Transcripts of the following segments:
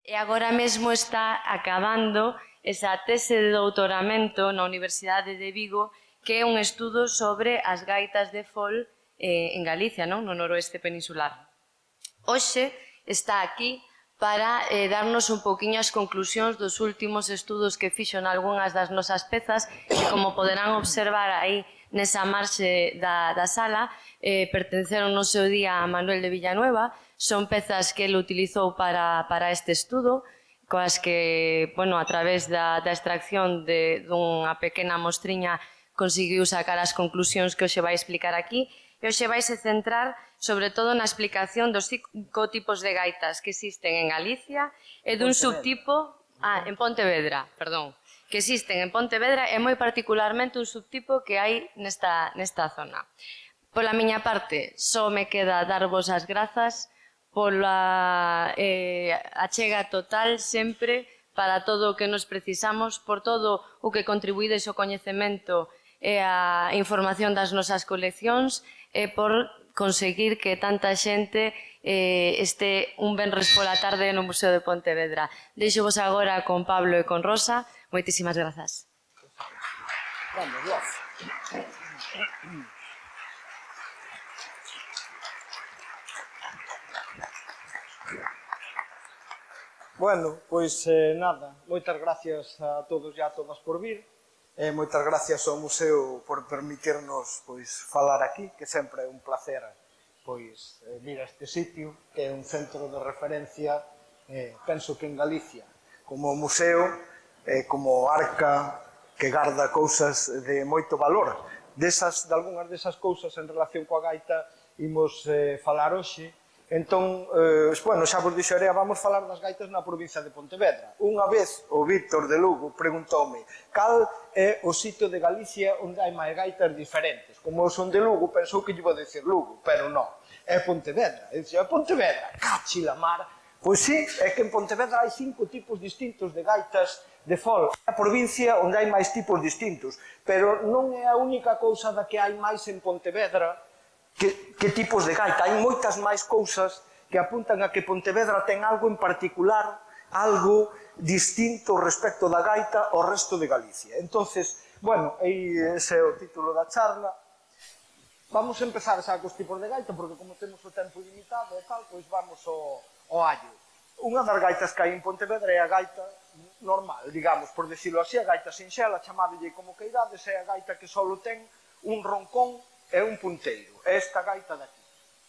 e agora mesmo está acabando esa tese de doutoramento na Universidade de Vigo, que é un estudo sobre as gaitas de fol en Galicia, no noroeste peninsular. Hoxe está aquí para darnos un poquinho as conclusións dos últimos estudos que fixo nalgúnas das nosas pezas, que como poderán observar aí nesa marxe da sala, pertenceron no seu día a Manuel de Villanueva. Son pezas que ele utilizou para este estudo, coas que, bueno, a través da extracción dunha pequena mostriña conseguiu sacar as conclusións que hoxe vai explicar aquí. E hoxe vai se centrar sobre todo na explicación dos 5 tipos de gaitas que existen en Galicia e dun subtipo, en Pontevedra, perdón, que existen en Pontevedra e moi particularmente un subtipo que hai nesta zona. Pola miña parte, só me queda darvos as grazas pola achega total sempre para todo o que nos precisamos, por todo o que contribuídes ao coñecemento e a información das nosas coleccións e por conseguir que tanta xente este un venres pola tarde no Museo de Pontevedra. Deixo-vos agora con Pablo e con Rosa. Moitísimas grazas. Bueno, pois nada, moitas gracias a todos e a todas por vir. Moitas gracias ao Museo por permitirnos falar aquí, que sempre é un placer vir a este sitio, que é un centro de referencia, penso que en Galicia, como museo, como arca que garda cousas de moito valor. De algunhas desas cousas en relación coa gaita imos falar hoxe. Entón, xa vos dixerei, vamos falar das gaitas na provincia de Pontevedra. Unha vez o Víctor de Lugo preguntoume cal é o sitio de Galicia onde hai máis gaitas diferentes. Como eu son de Lugo, pensou que lle iba a decir Lugo, pero non, é Pontevedra. E dixo, é Pontevedra, cachi la mar. Pois sí, é que en Pontevedra hai 5 tipos distintos de gaitas de fol. É a provincia onde hai máis tipos distintos, pero non é a única cousa da que hai máis en Pontevedra. Que tipos de gaita? Hai moitas máis cousas que apuntan a que Pontevedra ten algo en particular, algo distinto respecto da gaita ao resto de Galicia. Entonces, bueno, ese é o título da charla. Vamos a empezar xa cos tipos de gaita, porque como temos o tempo limitado e tal, pois vamos ao allo. Unha das gaitas que hai en Pontevedra é a gaita normal, digamos, por decirlo así, a gaita sinxela, chamadelle como queirades, é a gaita que só ten un roncón é un punteiro, é esta gaita daqui.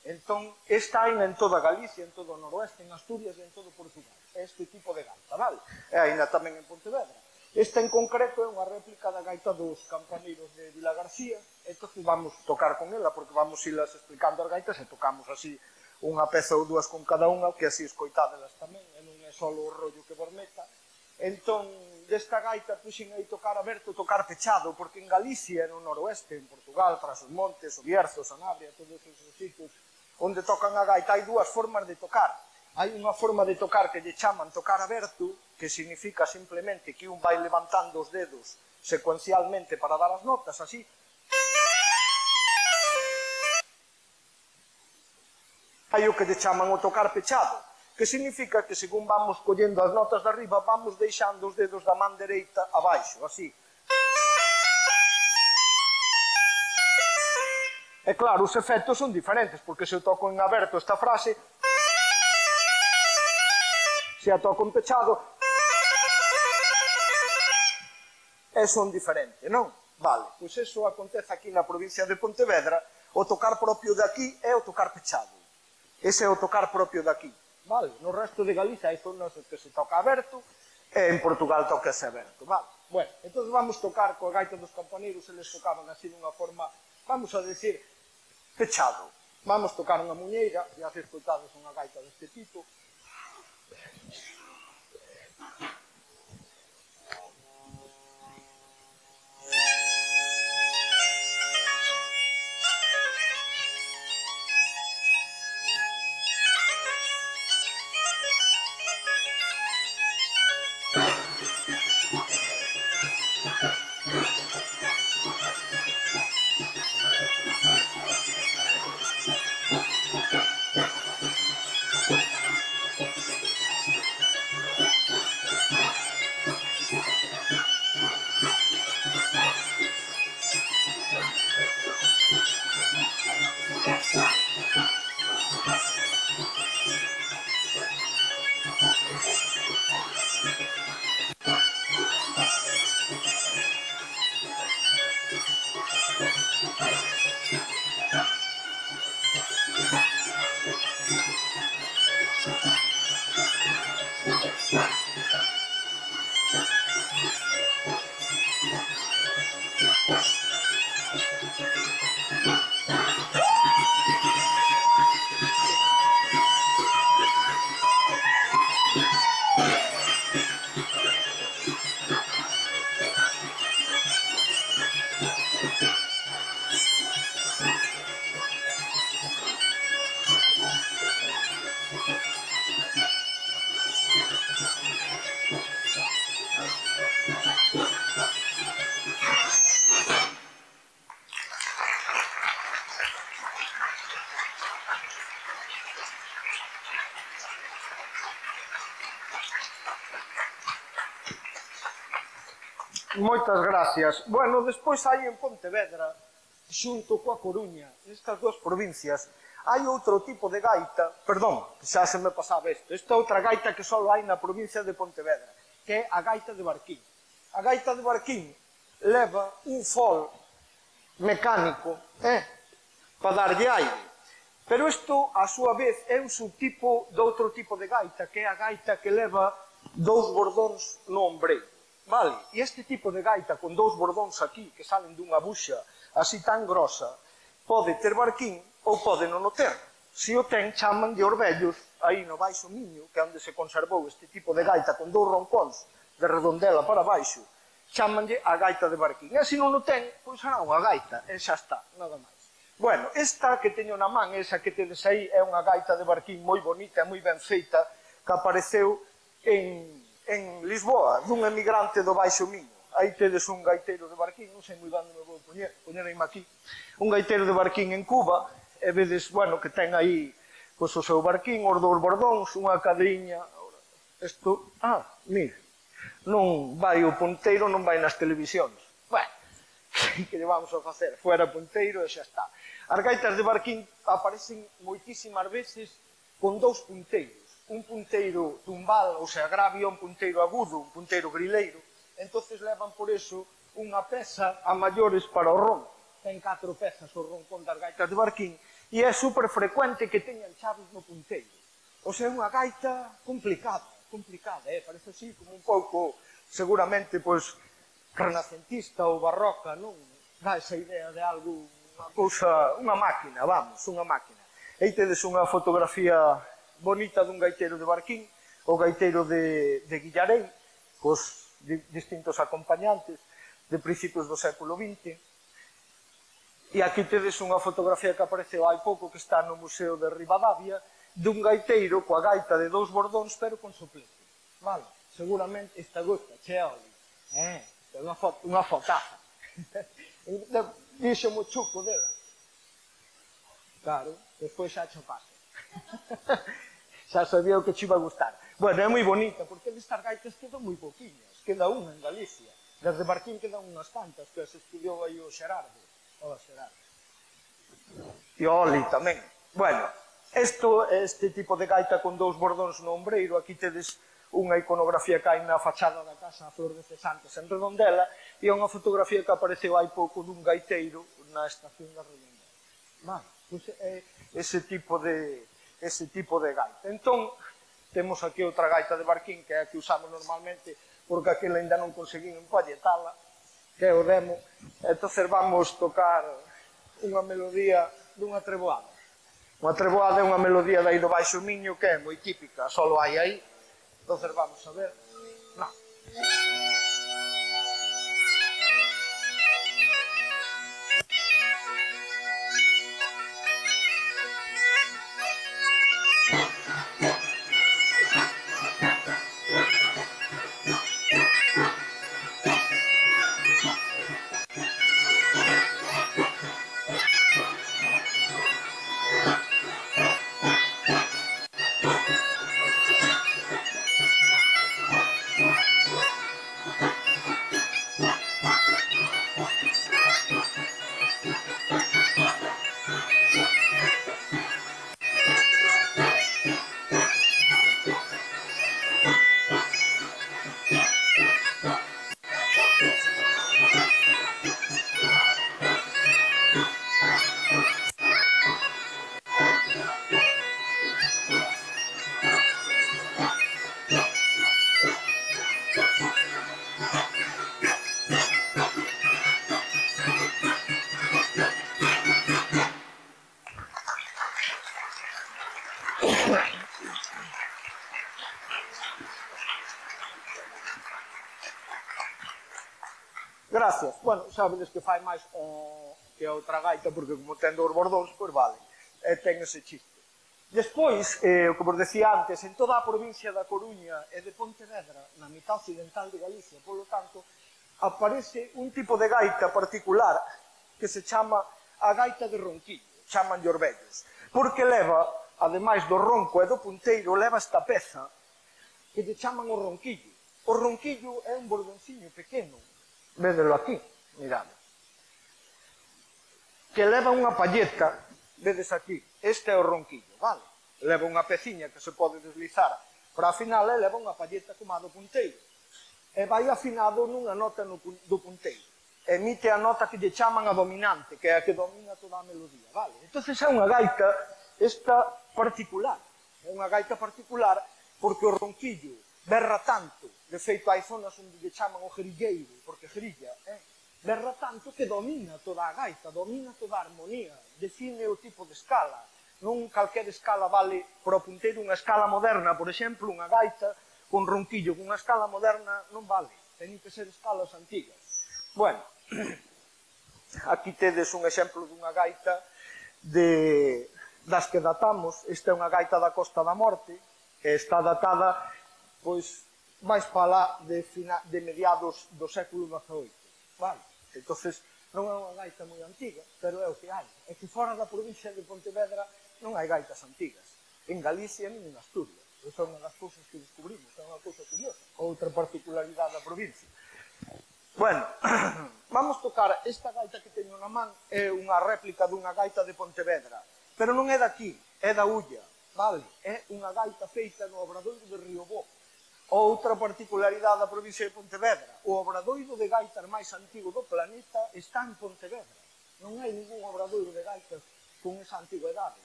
Entón, esta hai en toda Galicia, en todo o noroeste, en Asturias e en todo Portugal. É este tipo de gaita, vale? E ainda tamén en Pontevedra. Esta en concreto é unha réplica da gaita dos campaneiros de Vila García, entón vamos tocar con ela, porque vamos ilas explicando as gaitas e tocamos así unha peza ou dúas con cada unha, que así escoitadelas tamén, e non é só o rollo que vos meta. Entón, desta gaita puxen aí tocar aberto, tocar pechado, porque en Galicia, no noroeste, en Portugal, tras os montes, o Bierzo, Sanabria, todos esos sitios onde tocan a gaita, hai dúas formas de tocar. Hai unha forma de tocar que lle chaman tocar aberto, que significa simplemente que un vai levantando os dedos secuencialmente para dar as notas, así. Hai o que lle chaman o tocar pechado, que significa que según vamos collendo as notas de arriba, vamos deixando os dedos da man dereita abaixo, así. E claro, os efectos son diferentes, porque se eu toco en aberto esta frase, se a toco en pechado, son diferentes, non? Vale, pois eso acontece aquí na provincia de Pontevedra, o tocar propio de aquí é o tocar pechado. Ese é o tocar propio de aquí. Vale, no resto de Galicia hai zonas que se toca aberto e en Portugal toca-se aberto, vale. Bueno, entón vamos tocar coa gaita dos campaneiros, eles tocaban así dunha forma, vamos a decir, pechado. Vamos tocar unha muñeira, e así escoitades unha gaita deste tipo. Moitas gracias. Bueno, despois hai en Pontevedra, xunto coa Coruña, nestas dúas provincias, hai outro tipo de gaita, perdón, xa se me pasaba isto, esta é outra gaita que só hai na provincia de Pontevedra, que é a gaita de Barquín. A gaita de Barquín leva un fol mecánico, para darlle aire. Pero isto, a súa vez, é un subtipo de outro tipo de gaita, que é a gaita que leva dous bordóns no ombreiro. Vale? E este tipo de gaita con dous bordóns aquí, que salen dunha buxa así tan grosa, pode ter Barquín ou pode non o ter. Se o ten, chaman de Orvellos, aí no Baixo Miño, que é onde se conservou este tipo de gaita con dous roncóns de redondela para baixo, chamanlle a gaita de Barquín. E se non o ten, pois será unha gaita, e xa está, nada máis. Bueno, esta que teño na man, esa que tedes aí, é unha gaita de Barquín moi bonita e moi ben feita, que apareceu en Lisboa, dun emigrante do Baixo Miño. Aí tedes un gaiteiro de Barquín, non sei moi ben onde me vou poñerme aquí, un gaiteiro de Barquín en Cuba, e vedes, bueno, que ten aí pois, o seu Barquín, os dous bordóns, unha cadriña, isto, mire, non vai o punteiro, non vai nas televisións. Bueno, que lle vamos a facer? Fuera punteiro e xa está. As gaitas de Barquín aparecen moitísimas veces con dous punteiros. Un punteiro tumbal, ou sea, gravio, un punteiro agudo, un punteiro grileiro. Entonces levan por eso unha peza a maiores para o ronco. Ten 4 pezas o roncón das gaitas de Barquín e é super frecuente que teñan chaves no punteiro. O sea, é unha gaita complicada, parece así como un pouco, seguramente, pois, renacentista ou barroca, non? Dá esa idea de algo, unha cousa, unha máquina, vamos, unha máquina. Aí tedes unha fotografía bonita dun gaiteiro de Barquín, o gaiteiro de Guillarei, cos distintos acompañantes de principios do século XX. E aquí tedes unha fotografía que apareceu hai pouco que está no Museo de Ribadavia dun gaiteiro coa gaita de dous bordóns pero con soplete. Vale, seguramente esta gusta, che oli. É unha fotaza. Dixo mo chuco dela. Claro, despois xa cho paso. Xa sabía o que che iba a gustar. Bueno, é moi bonita, porque destas gaitas quedan moi poquinhas. Queda unha en Galicia. Desde Barquín quedan unhas tantas, que as estudiou aí o Xerardo. Hola, Xerardo. E o Oli tamén. Bueno, este tipo de gaita con dous bordóns no ombreiro, aquí tedes unha iconografía que hai na fachada da casa a Flor de Cesantes en Redondela e unha fotografía que apareceu hai pouco dun gaiteiro na estación da Redondela. Vale, pois é ese tipo de gaita. Entón, temos aquí outra gaita de Barquín, que é a que usamos normalmente, porque aquela ainda non conseguín empalletala, que é o demo. Entón, vamos tocar unha melodía dunha treboada. Unha treboada é unha melodía dai do Baixo Miño que é moi típica, só hai aí. Entón, vamos a ver. Non. Gracias. Bueno, sabedes que fai máis que a outra gaita, porque como ten dous bordóns, pois vale, ten ese chiste. Despois, o que vos decía antes, en toda a provincia da Coruña e de Pontevedra, na mitad occidental de Galicia, polo tanto, aparece un tipo de gaita particular que se chama a gaita de ronquillo, chaman de Orvellos, porque leva, ademais do ronco e do punteiro, leva esta peza que lle chaman o ronquillo. O ronquillo é un bordonciño pequeno, Védelo aquí, mirad. Que leva unha palleta, vedes aquí, este é o ronquillo, vale? Leva unha peciña que se pode deslizar para a final e leva unha palleta como a do punteiro. E vai afinado nunha nota do punteiro. Emite a nota que lle chaman a dominante, que é a que domina toda a melodía, vale? Entón é unha gaita esta particular. É unha gaita particular porque o ronquillo berra tanto, de feito hai zonas onde lle chaman o grilleiro, porque grilla, berra tanto que domina toda a gaita, domina toda a armonía, define o tipo de escala. Non calquera escala vale para o punteiro unha escala moderna, por exemplo, unha gaita con ronquillo, con unha escala moderna non vale, teñen que ser escalas antigas. Bueno, aquí tedes un exemplo dunha gaita das que datamos. Esta é unha gaita da Costa da Morte, que está datada pois máis para lá de mediados do século XVIII, vale? Entonces non é unha gaita moi antiga, pero é o que hai. É que fora da provincia de Pontevedra non hai gaitas antigas. En Galicia nin en Asturias. Esa é unha das cousas que descubrimos, é unha cousa curiosa. Outra particularidade da provincia. Bueno, vamos tocar esta gaita que teño na man, é unha réplica dunha gaita de Pontevedra, pero non é daqui, é da Ulla, vale? É unha gaita feita no obradoiro de Riobó. Outra particularidade da provincia de Pontevedra, o obradoiro de gaitas máis antigo do planeta está en Pontevedra. Non hai ningún obradoiro de gaitas con esa antigüedade.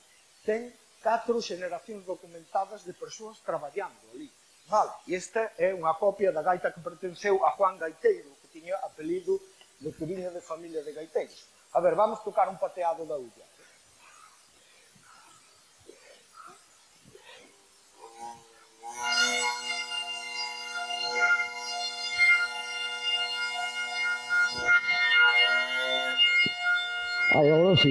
Ten 4 xeneracións documentadas de persoas traballando ali. Vale, e esta é unha copia da gaita que pertenceu a Juan Gaiteiro, que tiña apelido de que viña de familia de gaiteiros. A ver, vamos tocar un pateado da Ulla. Agora sí.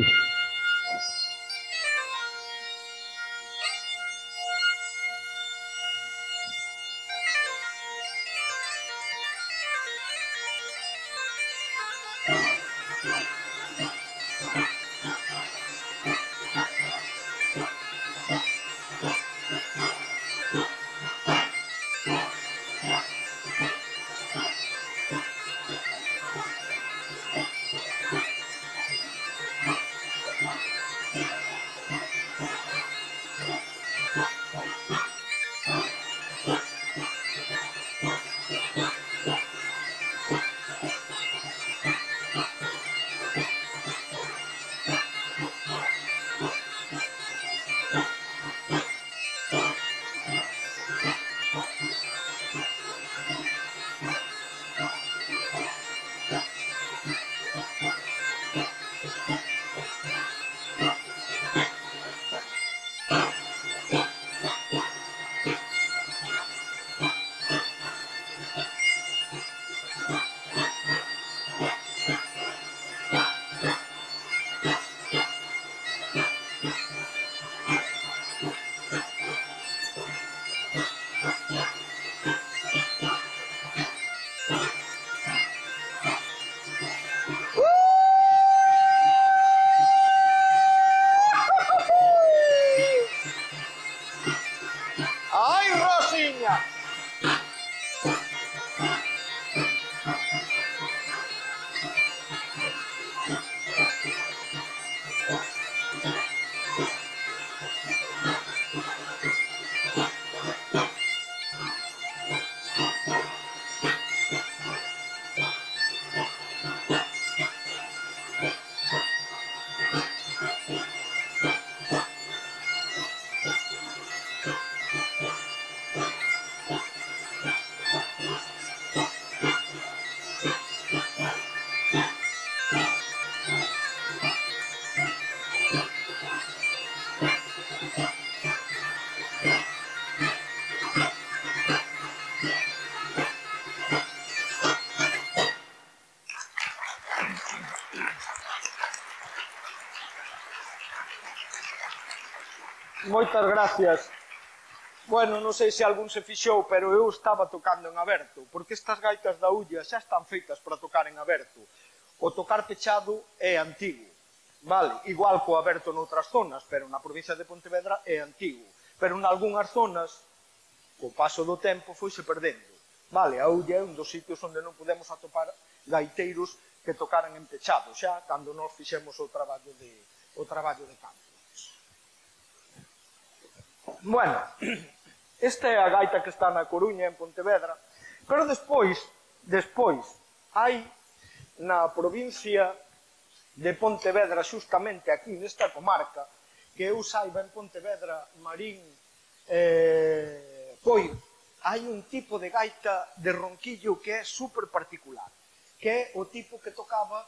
Moitas gracias. Bueno, non sei se algún se fixou, pero eu estaba tocando en aberto, porque estas gaitas da Ulla xa están feitas para tocar en aberto. O tocar pechado é antigo, vale? Igual co aberto noutras zonas, pero na provincia de Pontevedra é antigo. Pero nalgúnas zonas, co paso do tempo, foise perdendo. Vale, a Ulla é un dos sitios onde non podemos atopar gaiteiros que tocaran en pechado, xa cando nós fixemos o traballo de campo. Bueno, esta é a gaita que está na Coruña, en Pontevedra, pero despois, hai na provincia de Pontevedra, xustamente aquí nesta comarca, que eu saiba en Pontevedra, Marín, Coiro, hai un tipo de gaita de ronquillo que é super particular, que é o tipo que tocaba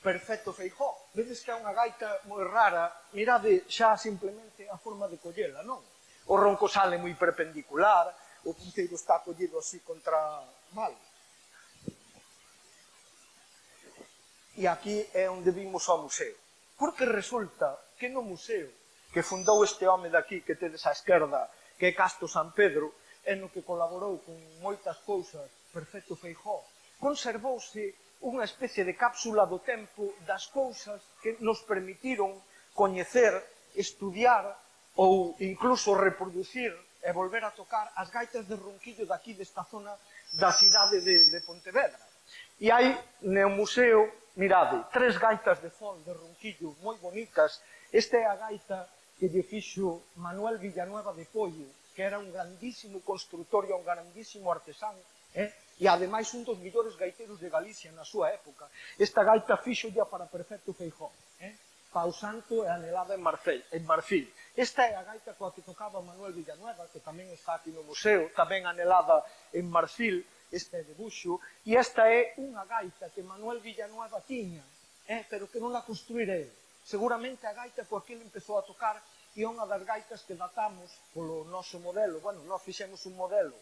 Perfecto Feijóo. Vedes que é unha gaita moi rara, mirade xa simplemente a forma de collela, non? O ronco sale moi perpendicular, o punteiro está collido así contra... Vale. E aquí é onde vimos ao museo. Porque resulta que no museo que fundou este home daqui, que tedes á esquerda, que é Casto San Pedro, e no que colaborou con moitas cousas Perfecto Feijóo, conservouse unha especie de cápsula do tempo das cousas que nos permitiron coñecer, estudiar ou incluso reproducir e volver a tocar as gaitas de ronquillo daqui desta zona da cidade de Pontevedra. E hai no museo, mirade, 3 gaitas de fol de ronquillo moi bonitas. Esta é a gaita que lle fixo Manuel Villanueva de Pollo, que era un grandísimo constructor e un grandísimo artesán, e ademais un dos millores gaiteiros de Galicia na súa época. Esta gaita fixolla para Perfecto Feijóo, Pau Santo e anelada en marfil. Esta é a gaita coa que tocaba Manuel Villanueva, que tamén está aquí no museo, tamén anelada en marfil, este é de buxo, e esta é unha gaita que Manuel Villanueva tiña, pero que non a construíra ele. Seguramente a gaita coa que ele empezou a tocar e unha das gaitas que datamos polo noso modelo. Bueno, nós fixemos un modelo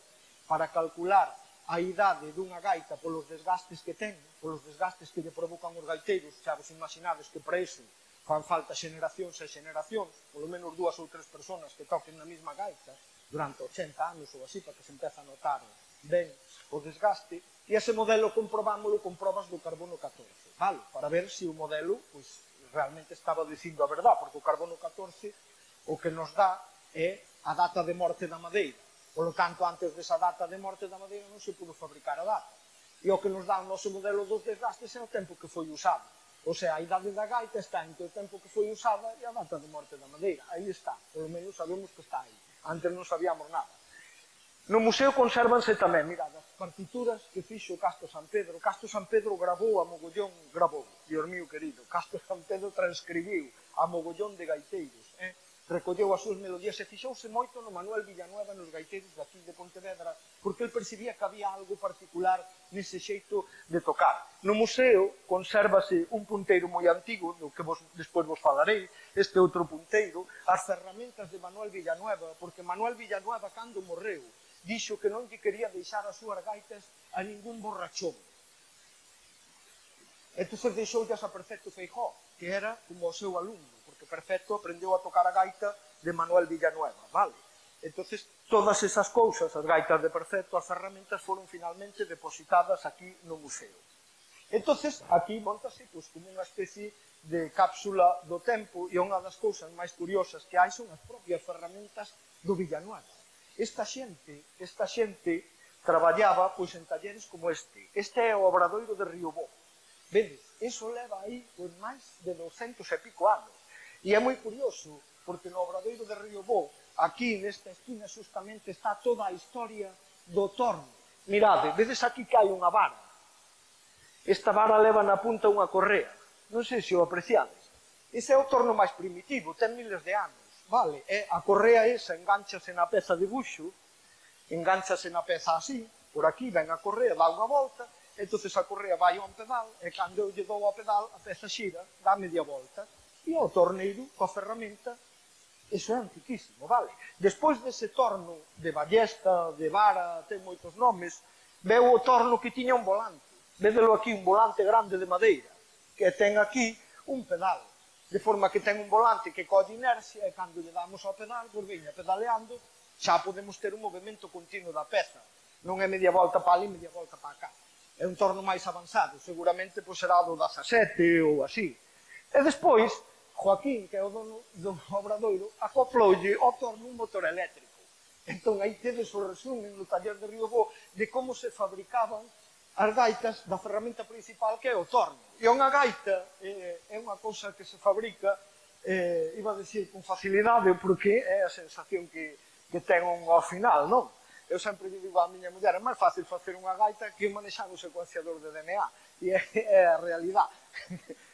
para calcular a idade dunha gaita polos desgastes que ten, polos desgastes que lle provocan os gaiteiros, xa vos imaginades que para iso fan falta xeneracións e xeneracións, polo menos 2 ou 3 personas que toquen na mesma gaita durante 80 anos ou así, para que se empece a notar ben o desgaste, e ese modelo comprobámoslo con probas do carbono 14, vale? Para ver se o modelo realmente estaba dicindo a verdade, porque o carbono 14 o que nos dá é a data de morte da madeira. Por lo tanto, antes desa data de morte da madeira non se pudo fabricar a data. E o que nos dá o noso modelo dos desgastes é o tempo que foi usado. O sea, a idade da gaita está entre o tempo que foi usada e a data de morte da madeira. Aí está, polo menos sabemos que está aí. Antes non sabíamos nada. No museo consérvanse tamén, mirad, as partituras que fixo Casto San Pedro. Casto San Pedro gravou a mogollón, Dios mío querido, Casto San Pedro transcribiu a mogollón de gaiteiros, recolleu as súas melodías e fixouse moito no Manuel Villanueva nos gaiteiros daqui de Pontevedra, porque ele percibía que había algo particular nese xeito de tocar. No museo consérvase un punteiro moi antigo, do que despois vos falarei, este outro punteiro, as ferramentas de Manuel Villanueva, porque Manuel Villanueva, cando morreu, dixo que non lle quería deixar as súas gaitas a ningún borrachón. Entón deixoullas a Perfecto Feijóo, que era como o seu alumno, porque Perfecto aprendeu a tocar a gaita de Manuel Villanueva, vale? Entón, todas esas cousas, as gaitas de Perfecto, as ferramentas, foron finalmente depositadas aquí no museo. Entón, aquí montase como unha especie de cápsula do tempo, e unha das cousas máis curiosas que hai son as propias ferramentas do Villanueva. Esta xente traballaba en talleres como este. Este é o Obradoiro de Riobó. Vedes, iso leva aí máis de 200 e pico anos. E é moi curioso, porque no Obradoiro de Riobó, aquí nesta esquina justamente está toda a historia do torno. Mirade, vedes aquí que hai unha vara. Esta vara leva na punta unha correa. Non sei se o apreciades. Ese é o torno máis primitivo, ten miles de anos. Vale, a correa esa enganchase na peza de buxo, enganchase na peza así, por aquí ven a correa, dá unha volta, entón a correa vai a un pedal, e cando eu lle dou ao pedal, a peza xira, dá media volta, e o torneiro, coa ferramenta, iso é antiquísimo, vale? Despois dese torno de ballesta, de vara, ten moitos nomes, veu o torno que tiña un volante. Védelo aquí, un volante grande de madeira, que ten aquí un pedal, de forma que ten un volante que colle inercia, e cando lle damos ao pedal, pois veña pedaleando, xa podemos ter un movimento continuo da peza. Non é media volta para ali, media volta para cá. É un torno máis avanzado, seguramente será do 17 ou así. E despois, Joaquín, que é o dono do Obradoiro, acoploulle ao torno un motor eléctrico. Entón, aí tedes o resumen no taller de Riobó de como se fabricaban as gaitas da ferramenta principal que é o torno. E unha gaita é unha cousa que se fabrica, iba a decir con facilidade, porque é a sensación que ten ao final, non? Eu sempre digo á miña muller, é máis fácil facer unha gaita que manexar un secuenciador de DNA. E é a realidade.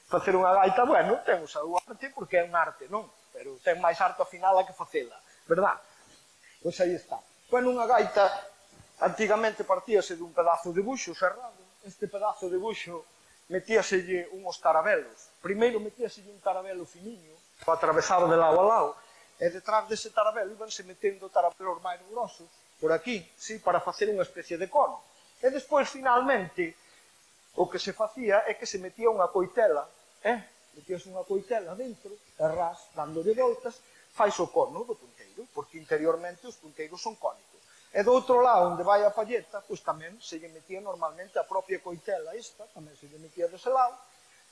Facer unha gaita, bueno, ten o seu arte porque é un arte, non? Pero ten máis arte ao final a que facela, verdad? Pois aí está. Bueno, unha gaita antigamente partíase dun pedazo de buxo cerrado. Este pedazo de buxo metíaselle uns tarabelos. Primeiro metíaselle un tarabelo finiño, o atravesado de lado a lado, e detrás dese tarabelo ibanse metendo tarabelos máis grosos, por aquí, sí, para facer unha especie de cono. E despois, finalmente, o que se facía é que se metía unha coitela, metíase unha coitela dentro, e ras, dándole voltas, fais o cono do punteiro, porque interiormente os punteiros son cónicos. E do outro lado, onde vai a palleta, pois tamén se lle metía normalmente a propia coitela esta, tamén se lle metía dese lado,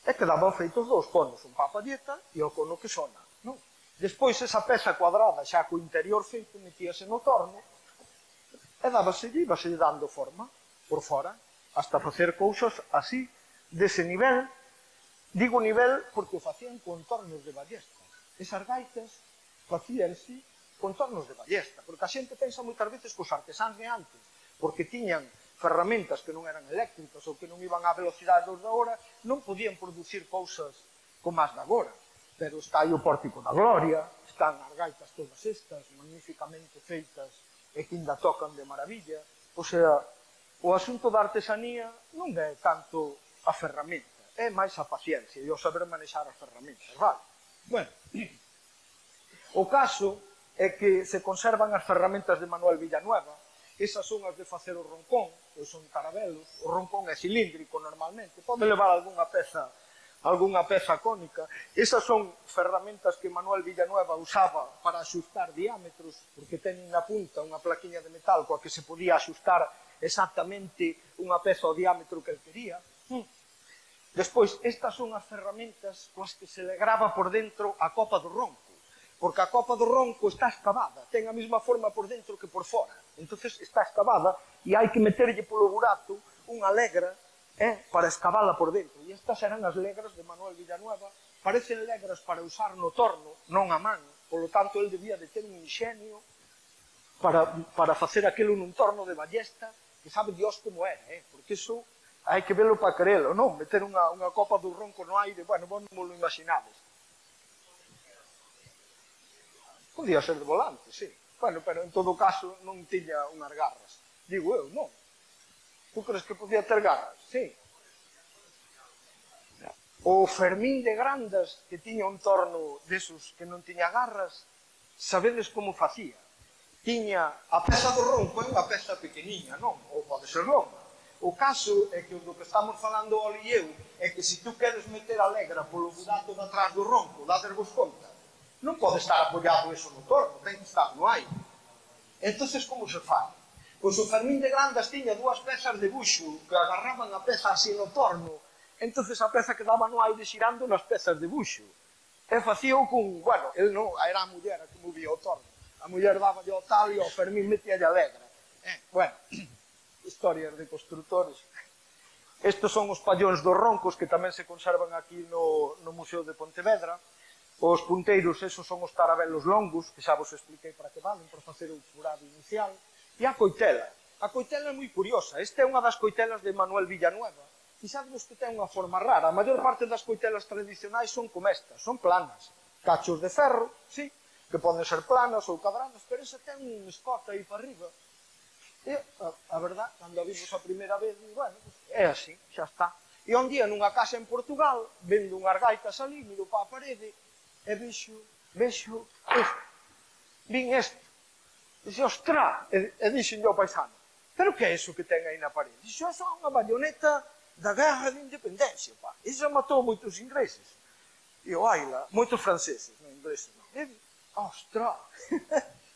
e quedaban feitos dous conos, un pa a palleta e o cono que sona, non? Despois, esa peza cuadrada, xa co interior feito, metíase no torno, e íbase dando forma por fora, hasta facer cousas así, dese nivel. Digo nivel porque o facían con tornos de ballesta. Esas gaitas facíanse con tornos de ballesta, porque a xente pensa moitas veces que os artesáns de antes, porque tiñan ferramentas que non eran eléctricas ou que non iban á velocidade dos de agora, non podían producir cousas como as de agora. Pero está aí o Pórtico da Gloria, están as gaitas todas estas, magníficamente feitas e que ainda tocan de maravilla. O sea, o asunto da artesanía non é tanto a ferramenta, é máis a paciencia e o saber manexar as ferramentas, vale? Bueno, o caso é que se conservan as ferramentas de Manuel Villanueva. Esas son as de facer o roncón, pois son tarabelos. O roncón é cilíndrico normalmente, pode levar algunha peza cónica. Esas son ferramentas que Manuel Villanueva usaba para axustar diámetros, porque teñen na punta unha plaquiña de metal coa que se podía axustar exactamente unha peza ao diámetro que el quería. Despois, estas son as ferramentas coas que se le grava por dentro a copa do ronco, porque a copa do ronco está escavada, ten a mesma forma por dentro que por fora. Entonces está escavada e hai que meterlle polo burato unha legra para escavala por dentro. E estas eran as legras de Manuel Villanueva. Parecen legras para usar no torno, non a man. Polo tanto, el debía de ter un inxenio para facer aquilo nun torno de ballesta, que sabe Dios como era, porque iso hai que velo para querelo, non? Meter unha copa do ronco no aire, bueno, vos non lo imaginades. Podía ser de volante, sí. Bueno, pero en todo caso non tiña unhas garras. Digo eu, non. Tú crees que podía ter garras? Sí. O Fermín de Grandas, que tiña un torno desos que non tiña garras, sabedes como facía? Tiña a peza do ronco, é unha peza pequeniña, non? Ou pode ser longa. O caso é que o do que estamos falando o e eu é que se tú queres meter a legra polo burato de atrás do ronco, dadervos conta, non pode estar apoiado eso no torno, ten que estar no aire. Entonces, como se fai? Pois o Fermín de Grandas tiña dúas pezas de buxo que agarraban a peza así no torno, entonces a peza quedaba no aire xirando nas pezas de buxo. E facíao con, bueno, el non, era a muller a que movía o torno. A muller daba o tal e o Fermín metía a legra. Bueno, historias de constructores. Estes son os pallóns dos roncos que tamén se conservan aquí no Museo de Pontevedra. Os punteiros, esos son os tarabelos longos, que xa vos expliquei para que valen, para facer o furado inicial. E a coitela. A coitela é moi curiosa. Esta é unha das coitelas de Manuel Villanueva. Fixadvos que ten unha forma rara. A maior parte das coitelas tradicionais son como estas, son planas. Cachos de ferro, sí, que poden ser planas ou cadradas, pero esa ten un escote aí para arriba. E, a verdad, cando a vimos a primeira vez, bueno, é así, xa está. E un día nunha casa en Portugal, vendo unhas gaitas ali, miro para a parede, e vexo isto. Vin isto. Dixe, ostra, e dixen ao paisano, pero que é iso que ten aí na parede? Dixe, iso é unha bayoneta da guerra de independencia, pá. Iso matou moitos ingleses. E o aila, moitos franceses, non ingleses, non. E, ostra,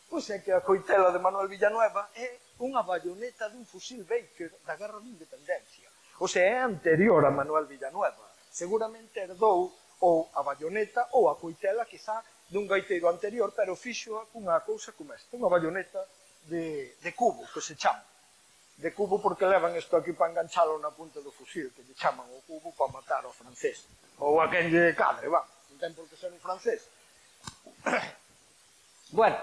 pois é que a coitela de Manuel Villanueva é unha bayoneta dun fusil Baker da guerra de independencia. O sea, é anterior a Manuel Villanueva. Seguramente herdou ou a bayoneta ou a coitela, quizá, dun gaiteiro anterior, pero fixo unha cousa como esta, unha bayoneta de cubo, que se chama. De cubo porque levan isto aquí para enganchalo na punta do fusil, que lle chaman o cubo para matar ao francés. Ou a quen lle cadre, va, non ten por que ser un francés. Bueno,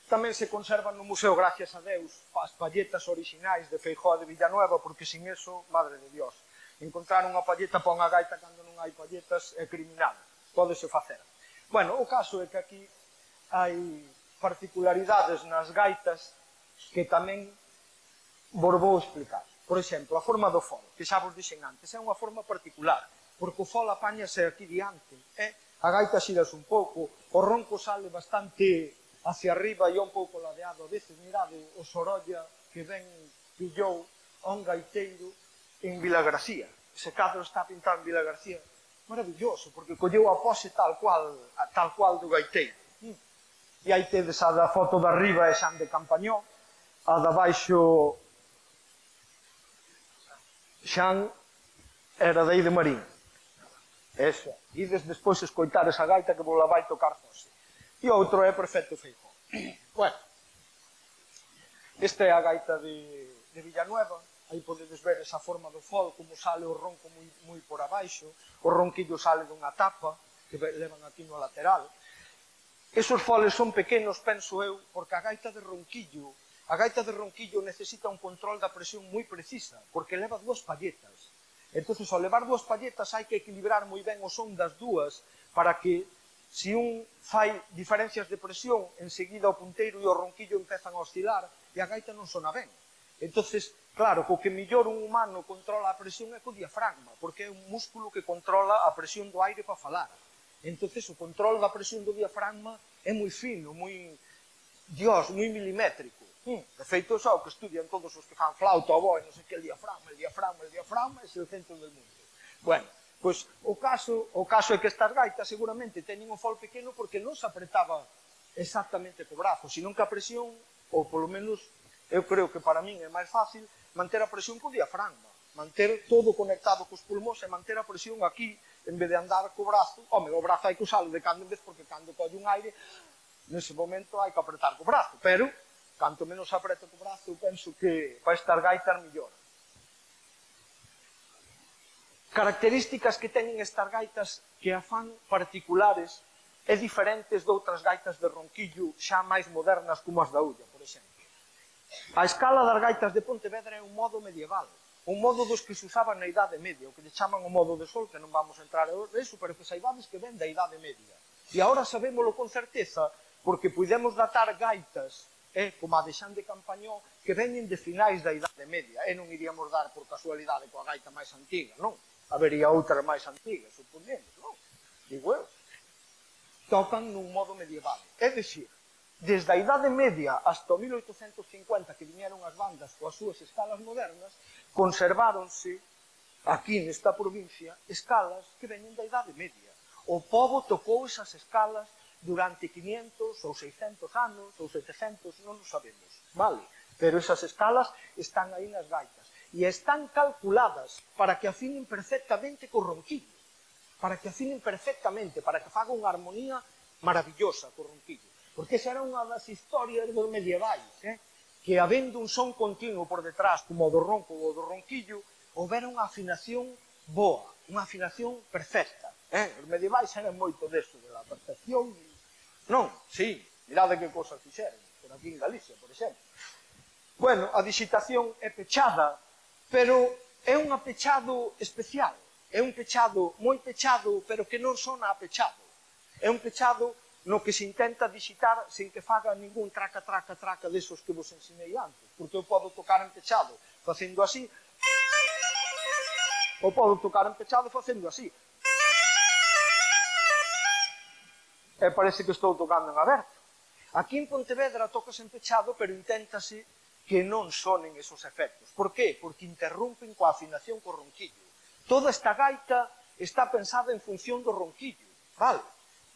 tamén se conservan no museo, gracias a Deus, as palletas orixinais de Feijóo de Villanueva, porque sin eso, madre de Dios, encontrar unha palleta para unha gaita cando non hai palletas é criminal, pódese facer. Bueno, o caso é que aquí hai particularidades nas gaitas que tamén vos vou explicar. Por exemplo, a forma do fol, que xa vos dixen antes, é unha forma particular, porque o fol apáñase aquí diante, a gaita xirase un pouco, o ronco sale bastante hacia arriba e un pouco ladeado. A veces, mirade, o Sorolla que ben pillou a un gaiteiro en Vilagarcía. Ese cadro está pintado en Vilagarcía. Maravilloso, porque colleu a pose tal cual do gaiteiro. E aí tedes a da foto de arriba é Xan de Campañó, a da baixo Xan era de Marín. Eso. Ides despois escoitar esa gaita que vos la vai tocar José. E outro é Perfecto Feijóo. Bueno, esta é a gaita de Villanueva. Aí podedes ver esa forma do fol, como sale o ronco moi por abaixo. O ronquillo sale dunha tapa que levan aquí no lateral. Esos foles son pequenos, penso eu, porque a gaita de ronquillo necesita un control da presión moi precisa, porque leva dúas palletas. Entón, ao levar dúas palletas hai que equilibrar moi ben o son das dúas para que, se un fai diferencias de presión, enseguida o punteiro e o ronquillo empezan a oscilar e a gaita non sona ben. Entón, claro, co que mellor un humano controla a presión é co diafragma, porque é un músculo que controla a presión do aire para falar. Entón, o control da presión do diafragma é moi fino, moi milimétrico. De feito, xa o que estudian todos os que fan flauta, oboe, non sei que, el diafragma é o centro del mundo. Bueno, pois o caso é que estas gaitas seguramente teñen o fol pequeno porque non se apretaba exactamente co brazo, senón que a presión, ou polo menos eu creo que para min é máis fácil manter a presión co diafragma, manter todo conectado cos pulmóns e manter a presión aquí, en vez de andar co brazo. Home, o brazo hai que usalo de cando en vez, porque cando colle un aire, nese momento hai que apretar co brazo, pero canto menos apreta co brazo, penso que para estas gaitas mellor. Características que teñen estas gaitas que a fan particulares e diferentes de outras gaitas de ronquillo xa máis modernas como as da Ulla, por exemplo. A escala das gaitas de Pontevedra é un modo medieval, un modo dos que se usaban na Idade Media, o que lle chaman o modo de sol, que non vamos a entrar en eso, pero que saibades que ven da Idade Media. E agora sabémolo con certeza porque podemos datar gaitas como a de Xan de Campañó, que venen de finais da Idade Media, e non iríamos dar por casualidade coa gaita máis antiga, non? Habería outras máis antigas, suponemos, non? Digo eu. Tocan nun modo medieval. É dicir, desde a Idade Media hasta o 1850, que viñeron as bandas coas súas escalas modernas, conserváronse, aquí nesta provincia, escalas que veñen da Idade Media. O pobo tocou esas escalas durante 500 ou 600 anos, ou 700, non o sabemos, vale? Pero esas escalas están aí nas gaitas. E están calculadas para que afinen perfectamente co ronquillo. Para que afinen perfectamente, para que faga unha armonía maravillosa co ronquillo. Porque esa era unha das historias dos medievais, que habendo un son continuo por detrás, como o do ronco ou do ronquillo, houbera unha afinación boa, unha afinación perfecta. Os medievais eran moito deso, de la perfección. Non, sí, mirade que cosas fixeron, por aquí en Galicia, por exemplo. Bueno, a digitación é pechada, pero é un pechado especial. É un pechado moi pechado, pero que non sona a pechado. É un pechado no que se intenta digitar sen que faga ningún traca, traca, traca desos que vos ensinei antes, porque eu podo tocar en pechado facendo así, ou podo tocar en pechado facendo así. E parece que estou tocando en aberto. Aquí en Pontevedra tocas en pechado, pero inténtase que non sonen esos efectos. Por qué? Porque interrompen coa afinación co ronquillo. Toda esta gaita está pensada en función do ronquillo, vale?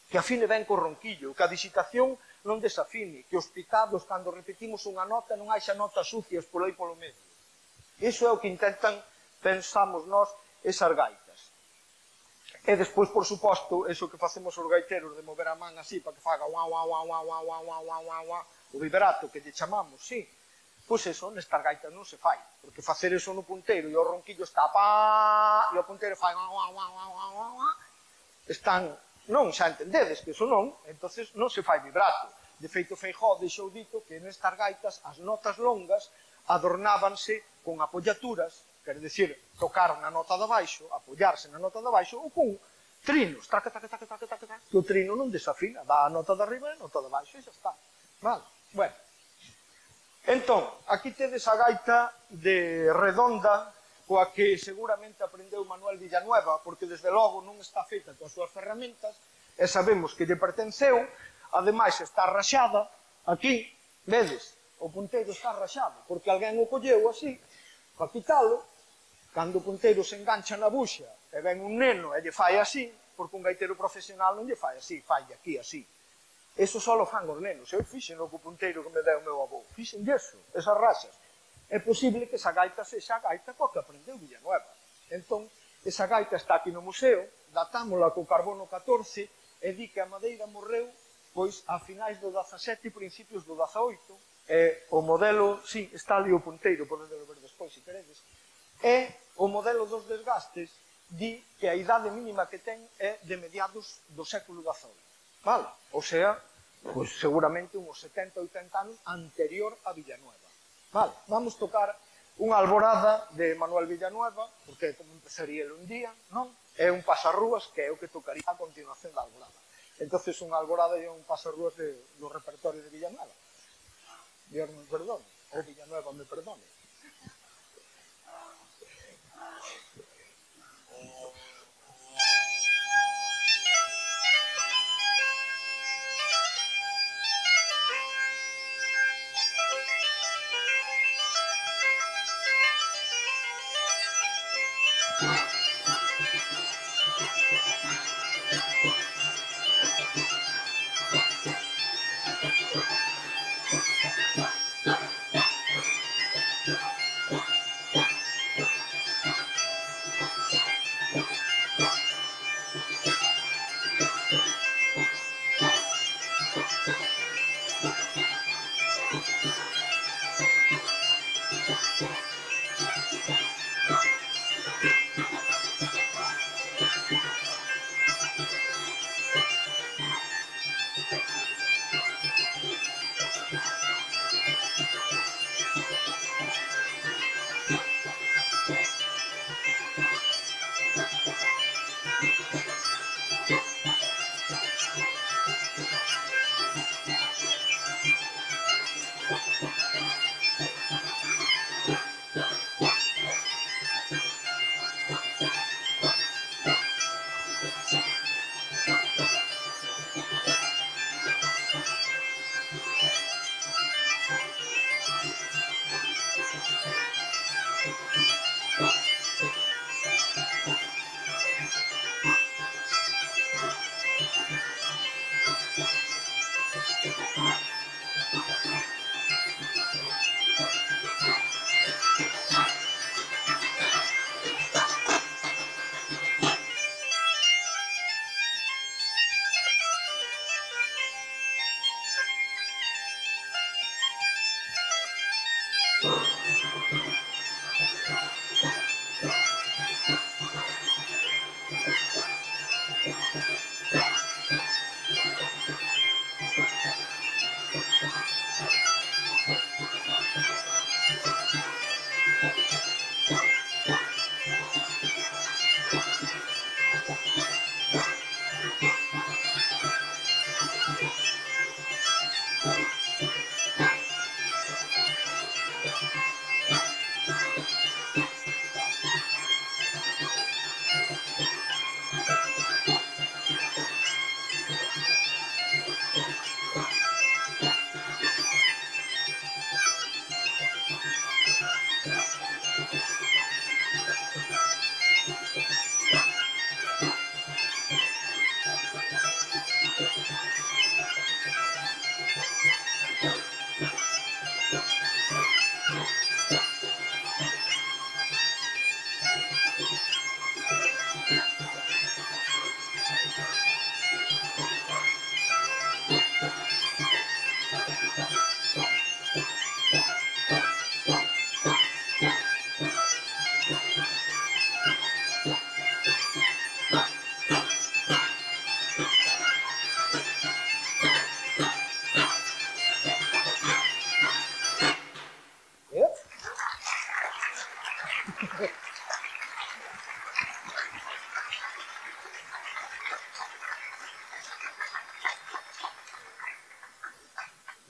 Que afine ben co ronquillo, que a digitación non desafine, que os picados, cando repetimos unha nota, non haxa notas sucias por aí polo medio. Iso é o que intentan, pensamos nós, esas gaitas. E despois, por suposto, eso que facemos os gaiteros de mover a man así para que faga o vibrato que lle chamamos, sí. Pois eso, nestas gaitas non se fai, porque facer eso no punteiro e o ronquillo está pá, e o punteiro fai están, non, xa entendedes que eso non, entonces non se fai vibrato. De feito, Feijóo deixou dito que nestas gaitas as notas longas adornábanse con apollaturas, quer decir, tocar na nota de baixo, apoyarse na nota de baixo, ou con trinos, traca, taca, taca, taca, taca, taca, que o trino non desafina, dá a nota de arriba e a nota de baixo e xa está. Vale, bueno. Entón, aquí tedes a gaita de redonda, coa que seguramente aprendeu Manuel Villanueva, porque desde logo non está feita coas súas ferramentas, e sabemos que lle pertenceu, ademais está raxada, aquí, vedes, o punteiro está raxado, porque alguén o colleu así, para quitalo, cando o punteiro se engancha na buxa, e ven un neno e lle fai así, porque un gaitero profesional non lle fai así, fai aquí así. Eso só lo fan os nenos. Eu fixen o punteiro que me deu o meu avó. Fixen eso, esas raxas. É posible que esa gaita sexa a gaita coa que aprendeu Villanueva. Entón, esa gaita está aquí no museo, datámola co carbono 14, e di que a madeira morreu pois a finais do 17 e principios do 18. O modelo, sí, está ali o punteiro, podedelo ver despois, se queredes. E o modelo dos desgastes di que a idade mínima que ten é de mediados do século XVIII. Vale? O sea, pois seguramente uns 70 ou 80 anos anterior a Villanueva. Vale, vamos tocar unha alborada de Manuel Villanueva, porque como empezaría un día, non? É un pasarrúas que é o que tocaría a continuación da alborada. Entonces unha alborada é un pasarrúas do repertorio de Villanueva. Dios me perdone, ou Villanueva me perdone.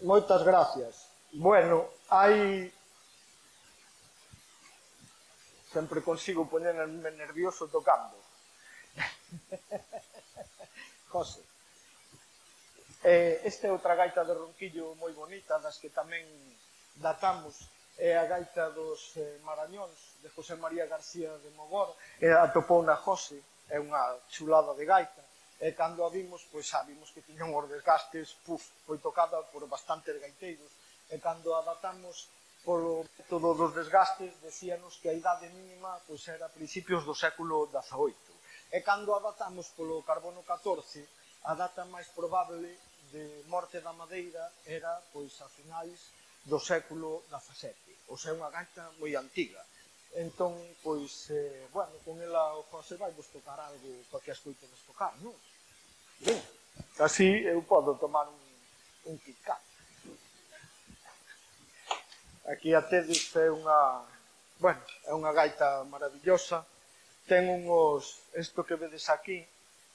Moitas gracias. Bueno, hai... Sempre consigo poñerme nervioso tocando. José. Esta é outra gaita de ronquillo moi bonita, das que tamén datamos, é a gaita dos Marañóns, de José María García de Mogor, atopou na José, é unha chulada de gaita, e cando a vimos, pois xa vimos que tiñan os desgastes, foi tocada por bastantes gaiteiros, e cando a datamos polo método dos desgastes, decíanos que a idade mínima pois era a principios do século XVIII. E cando a datamos polo carbono 14, a data máis probable de morte da madeira era pois a finais do século XVII. Ou sea, unha gaita moi antiga. Entón, pois, bueno, con ela o José vai vos tocar algo para que escoitedes tocar, non? Ben, así eu podo tomar un Kit Kat. Aquí a tedes é unha, bueno, é unha gaita maravillosa. Ten unhos, isto que vedes aquí,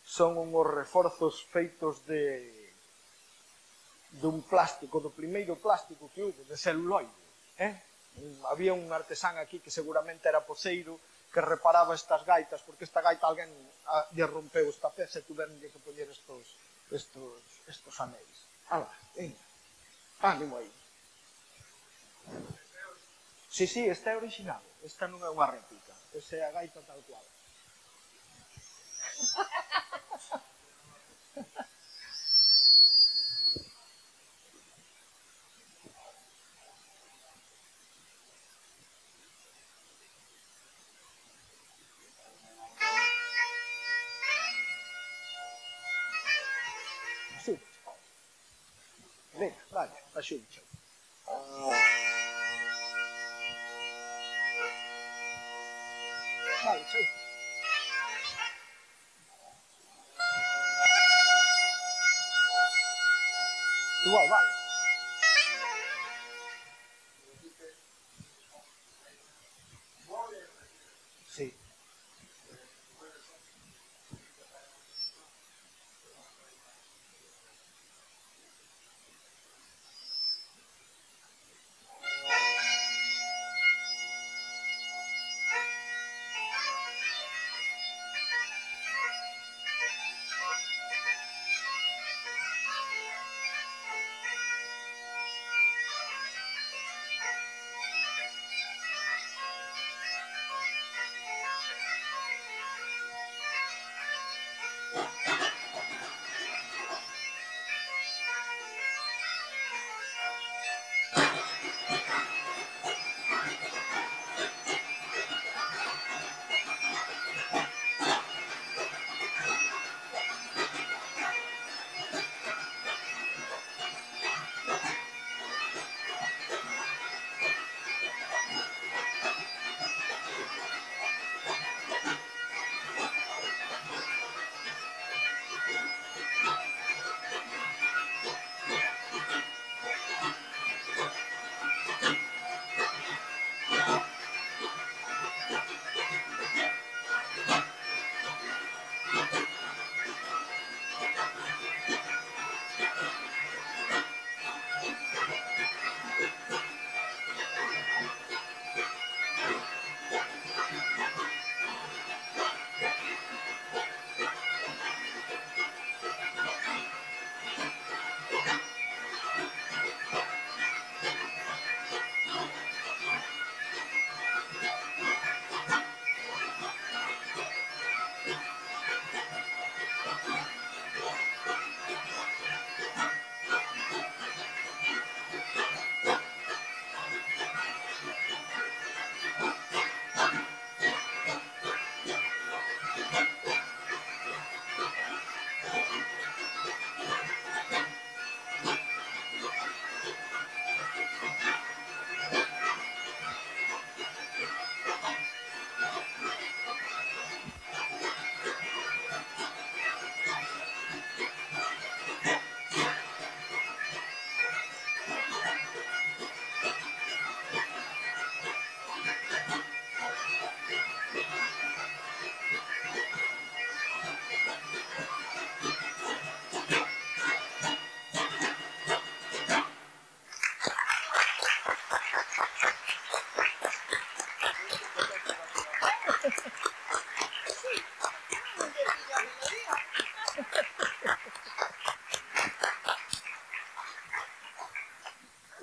son unhos reforzos feitos dun plástico, do primeiro plástico que houve, de celuloide. Había un artesán aquí que seguramente era poceiro, que reparaba estas gaitas, porque esta gaita alguén lle rompeu esta peza e tuveron que poñer estos anéis. Ala, venga, ánimo aí. Sí, esta é original, esta non é unha réplica, esta é a gaita tal cual. Sí, venga, vale, axúdate. Vale, chao. Igual, vale. Sí.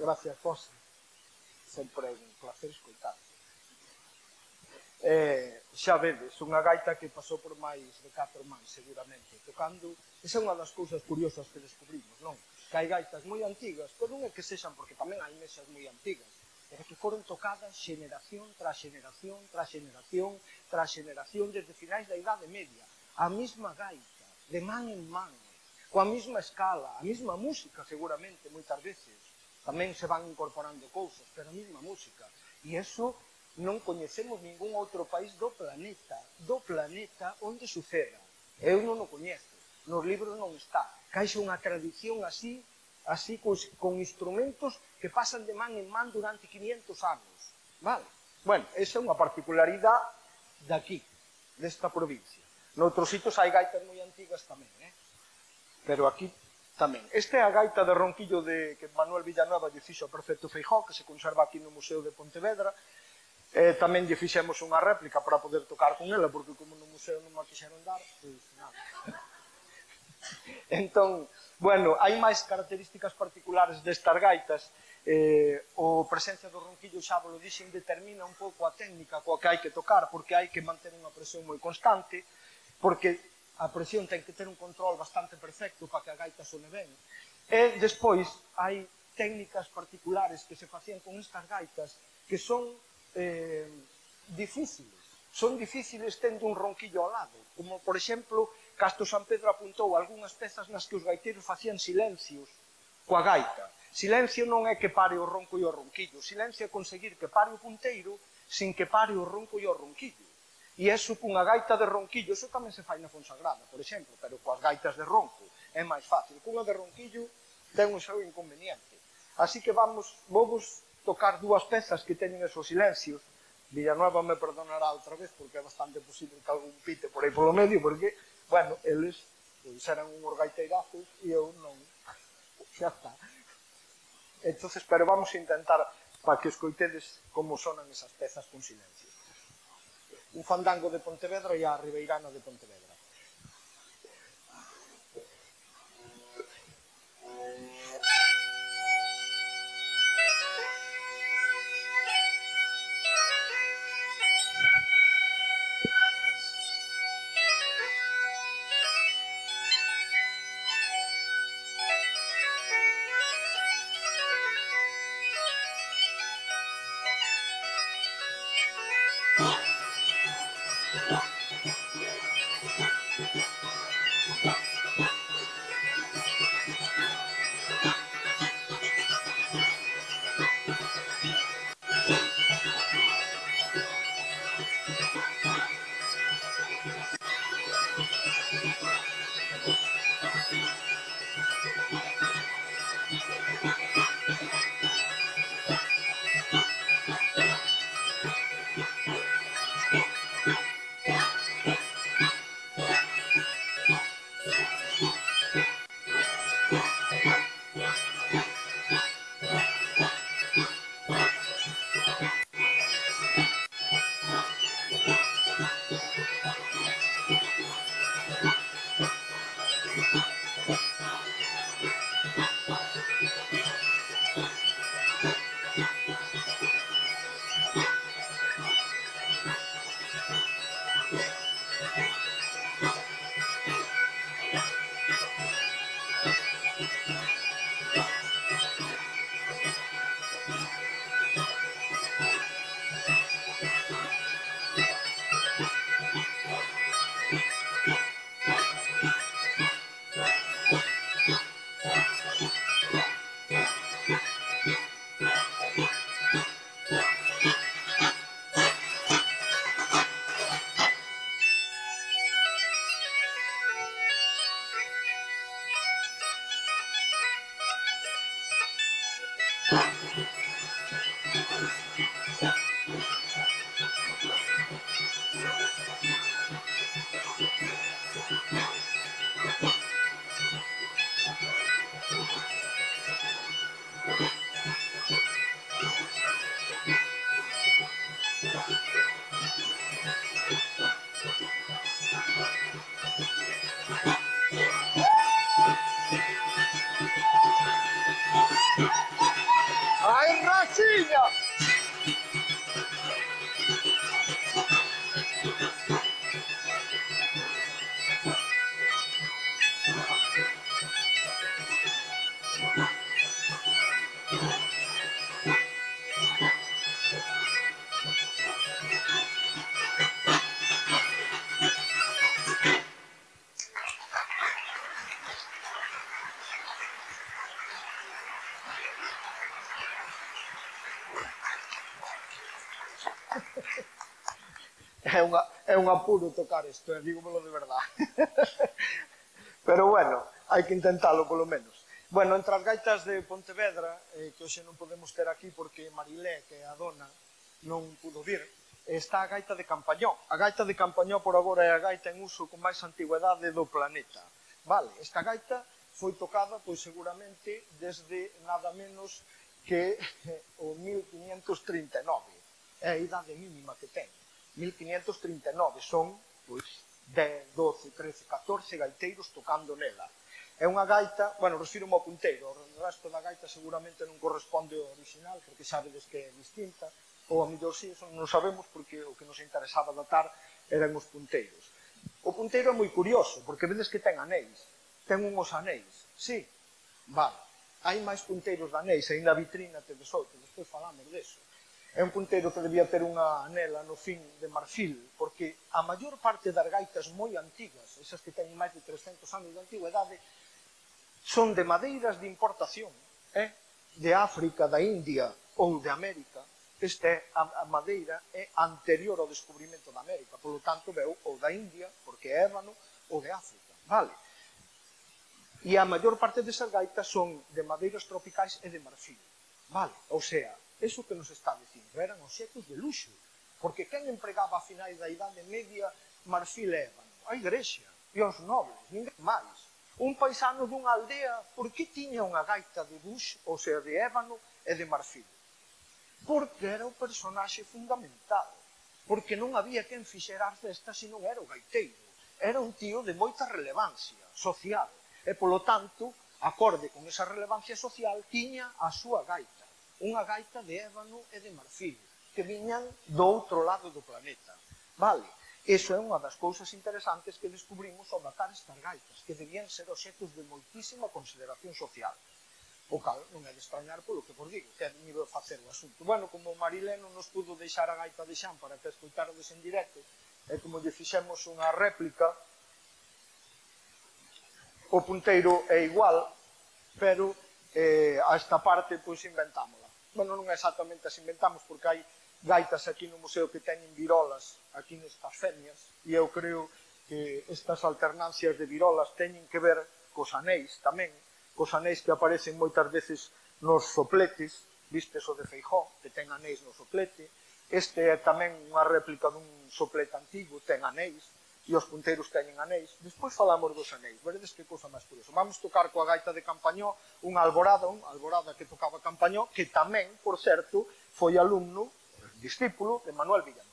Gracias, José. Sempre é un placer escoitar. Xa vedes, unha gaita que pasou por máis de 4 mans, seguramente, tocando. Esa é unha das cousas curiosas que descubrimos, non? Que hai gaitas moi antigas, pero non é que sexan, porque tamén hai mesas moi antigas, pero que foron tocadas xeneración tras xeneración, tras xeneración, tras xeneración, desde finais da Idade Media. A mesma gaita, de man en man, coa mesma escala, a mesma música, seguramente, moitas veces. Tamén se van incorporando cousas, pero a mesma música. E iso non coñecemos ningún outro país do planeta onde suceda. Eu non o coñezo, nos libros non está. Caixa unha tradición así con instrumentos que pasan de man en man durante 500 anos. Vale? Bueno, esa é unha particularidade daqui, desta provincia. Noutros sitios hai gaitas moi antigas tamén, pero aquí tamén. Esta é a gaita de ronquillo que Manuel Villanueva lle fixo ao prefecto Feijóo, que se conserva aquí no Museo de Pontevedra. Tamén lle fixemos unha réplica para poder tocar con ela, porque como no museo non me quixeron dar, pois nada. Entón, bueno, hai máis características particulares destas gaitas. O presencia do ronquillo, xa vos lo dixen, determina un pouco a técnica coa que hai que tocar, porque hai que manter unha presión moi constante, porque a presión ten que ter un control bastante perfecto para que a gaita sone ben. E despois hai técnicas particulares que se facían con estas gaitas que son difíciles. Son difíciles tendo un ronquillo ao lado, como, por exemplo, Castro San Pedro apuntou algunhas pezas nas que os gaiteiros facían silencios coa gaita. Silencio non é que pare o ronco e o ronquillo, silencio é conseguir que pare o punteiro sin que pare o ronco e o ronquillo. E iso cunha gaita de ronquillo, iso tamén se fai na Fonsagrada, por exemplo, pero coas gaitas de ronco é máis fácil. Cunha de ronquillo ten un seu inconveniente. Así que vamos tocar dúas pezas que teñen esos silencios. Villanueva me perdonará outra vez, porque é bastante posible que algún pite por aí polo medio, porque, bueno, eles eran unhos gaiteirazos e eu non. Xa está. Entonces, pero vamos a intentar para que escoitedes como sonan esas pezas con silencio. Un fandango de Pontevedra e a Ribeirana de Pontevedra. tiña! É un apuro tocar isto, dígomelo de verdade. Pero bueno, hai que intentalo polo menos. Bueno, entre as gaitas de Pontevedra, que hoxe non podemos ter aquí porque Marilé, que é a dona, non pudo vir, está a gaita de Campañó. A gaita de Campañó por agora é a gaita en uso con máis antigüedade do planeta. Vale, esta gaita foi tocada, pois seguramente, desde nada menos que o 1539. É a idade mínima que ten. 1539 son, pois, 10, 12, 13, 14 gaiteiros tocando nela. É unha gaita, bueno, refiro-me ao punteiro, o resto da gaita seguramente non corresponde ao original, porque sabedes que é distinta, ou a mellor si, non sabemos, porque o que nos interesaba datar eran os punteiros. O punteiro é moi curioso, porque vedes que ten anéis, ten unhos anéis, sí, vale, hai máis punteiros de anéis, aí na vitrina tedes outro, despois falamos deso. É un punteiro que debía ter unha anela no fin de marfil, porque a maior parte das gaitas moi antigas, esas que teñen máis de 300 anos de antigüedade, son de madeiras de importación, de África, da India ou de América. A madeira é anterior ao descubrimento da América, polo tanto veu ou da India, porque é ébano, ou de África, vale? E a maior parte desas gaitas son de madeiras tropicais e de marfil, vale? Ou sea, eso que nos está dicindo, eran obxectos de luxo, porque quen empregaba a finais da Idade Media marfil e ébano? A igrexa e os nobles, ninguén máis. Un paisano dunha aldea, por que tiña unha gaita de bush, ou sea, de ébano e de marfil? Porque era o personaxe fundamental, porque non había quen fixera as festas se non era o gaiteiro. Era un tío de moita relevancia social, e polo tanto, acorde con esa relevancia social, tiña a súa gaita, unha gaita de ébano e de marfil, que viñan do outro lado do planeta. Vale? Iso é unha das cousas interesantes que descubrimos ao datar estas gaitas, que debían ser obxectos de moitísima consideración social. O cal non é de extrañar polo que vos digo, que é nivel facer o asunto. Bueno, como Marilé non nos pudo deixar a gaita de Xan para que escoitarades en directo, e como lle fixemos unha réplica, o punteiro é igual, pero a esta parte pois inventámola. Bueno, non exactamente as inventamos, porque hai gaitas aquí no museo que teñen virolas aquí nestas femias, e eu creo que estas alternancias de virolas teñen que ver cos anéis tamén, cos anéis que aparecen moitas veces nos sopletes, vistes o de Feijó, que ten anéis no soplete, este é tamén unha réplica dun soplete antigo, ten anéis, e os punteiros teñen anéis. Despois falamos dos anéis, veredes que cousa máis curiosa. Vamos tocar coa gaita de Campañó unha alborada que tocaba Campañó, que tamén, por certo, foi alumno, discípulo de Manuel Villanueva.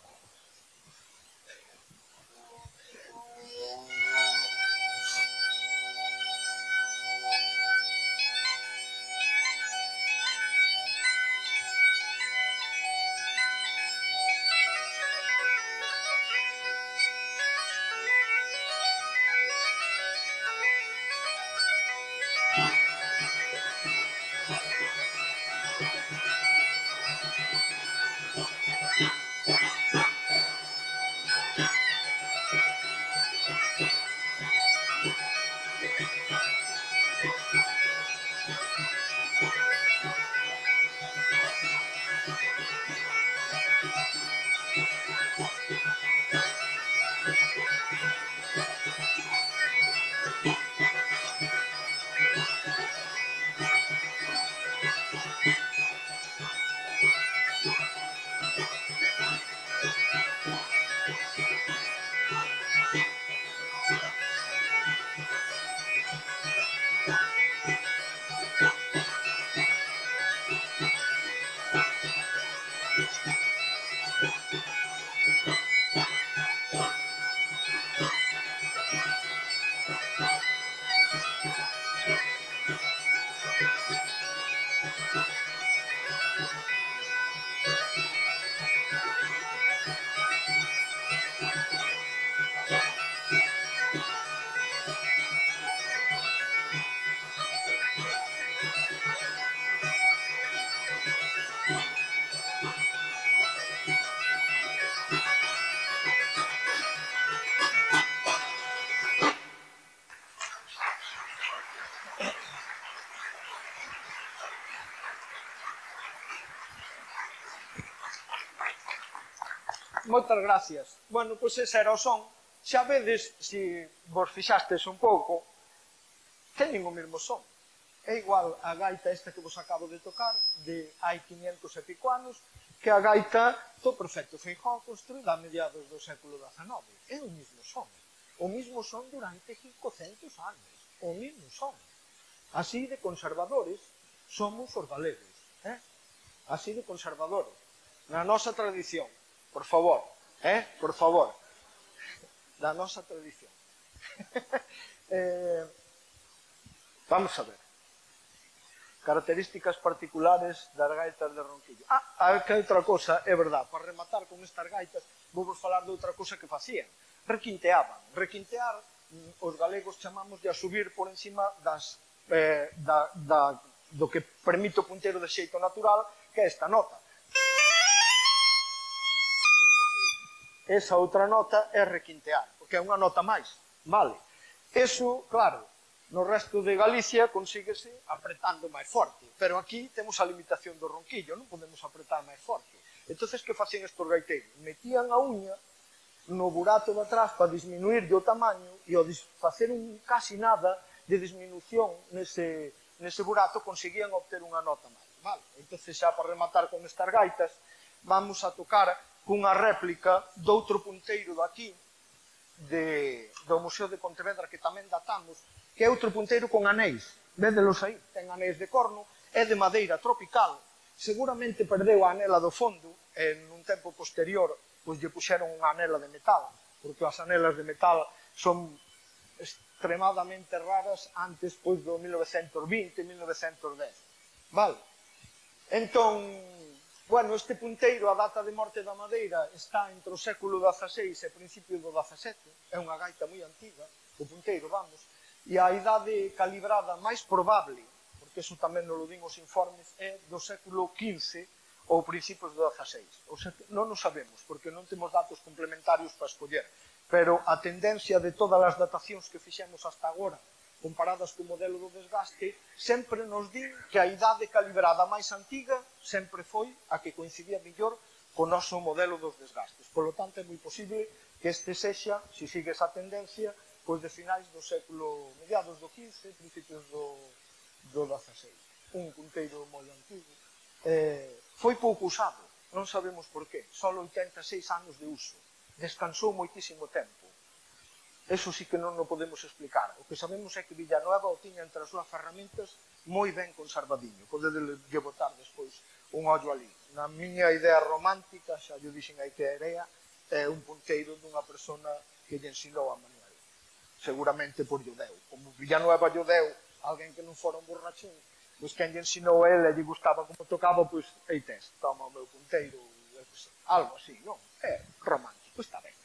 Moitas gracias. Bueno, pois ese era o son. Xa vedes, se vos fixastes un pouco, teñen o mesmo son. É igual a gaita esta que vos acabo de tocar, de hai 500 e pico anos, que a gaita do prefecto Feijóo construída a mediados do século XIX. É o mesmo son. O mesmo son durante 500 anos. O mesmo son. Así de conservadores somos os galegos. Así de conservadores. Na nosa tradición. Por favor. Por favor. Da nosa tradición. Vamos a ver. Características particulares das gaitas de Ronquillo. Que outra cosa, é verdad, para rematar con estas gaitas, vou vos falar de outra cosa que facían. Requinteaban. Requintear, os galegos chamamos de a subir por encima do que permite o punteiro de xeito natural, que é esta nota. Esa outra nota é requintear, porque é unha nota máis, vale? Eso, claro, no resto de Galicia consíguese apretando máis forte, pero aquí temos a limitación do ronquillo, non podemos apretar máis forte. Entonces, que facían estos gaiteiros? Metían a uña no burato de atrás para disminuir o tamaño e ao facer casi nada de disminución nese burato conseguían obter unha nota máis, vale? Entonces, xa para rematar con estas gaitas, vamos a tocar cunha réplica doutro punteiro daqui, do Museo de Pontevedra, que tamén datamos, que é outro punteiro con anéis. Védelos aí, ten anéis de corno, é de madeira tropical, seguramente perdeu a anela do fondo, e nun tempo posterior, pois lle puxeron unha anela de metal, porque as anelas de metal son extremadamente raras antes pois do 1920, 1910. Vale? Entón, bueno, este punteiro, a data de morte da madeira, está entre o século XVI e principio do XVII, é unha gaita moi antiga, o punteiro, vamos, e a idade calibrada máis probable, porque iso tamén nos lo din os informes, é do século XV ou principios do XVI. O sea, non o sabemos, porque non temos datos complementarios para escoller, pero a tendencia de todas as datacións que fixemos hasta agora, comparadas co modelo do desgaste, sempre nos din que a idade calibrada máis antiga sempre foi a que coincidía mellor co noso modelo dos desgastes. Por lo tanto, é moi posible que este sexa, se sigue esa tendencia, pois de finais do século, mediados do XV, principios do XVI. Un punteiro moi antigo. Foi pouco usado, non sabemos por qué. Só 86 anos de uso. Descansou moitísimo tempo. Eso sí que non o podemos explicar. O que sabemos é que Villanueva o tiña entre as súas ferramentas moi ben conservadiño. Podedes botar despois un ollo ali. Na miña idea romántica, xa yo dixen aí que é un punteiro dunha persona que lle ensinou a Manuel. Seguramente por lle deu. Como Villanueva lle deu alguén que non fora un borrachín, pois quen lle ensinou a ele, lle gustaba como tocaba, pois, ei tes, toma o meu punteiro, algo así, non? É romántico, está ben.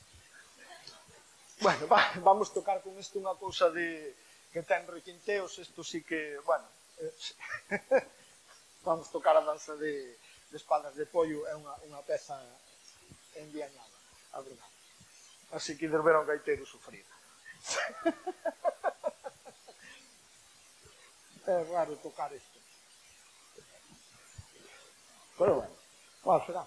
Bueno, vamos tocar con isto unha cousa que ten requinteos, isto sí que, bueno, vamos tocar a danza de espadas de pollo, é unha peza enviañada, a verdade. Así que ver un gaiteiro sufrir. É raro tocar isto. Pero bueno, qual será?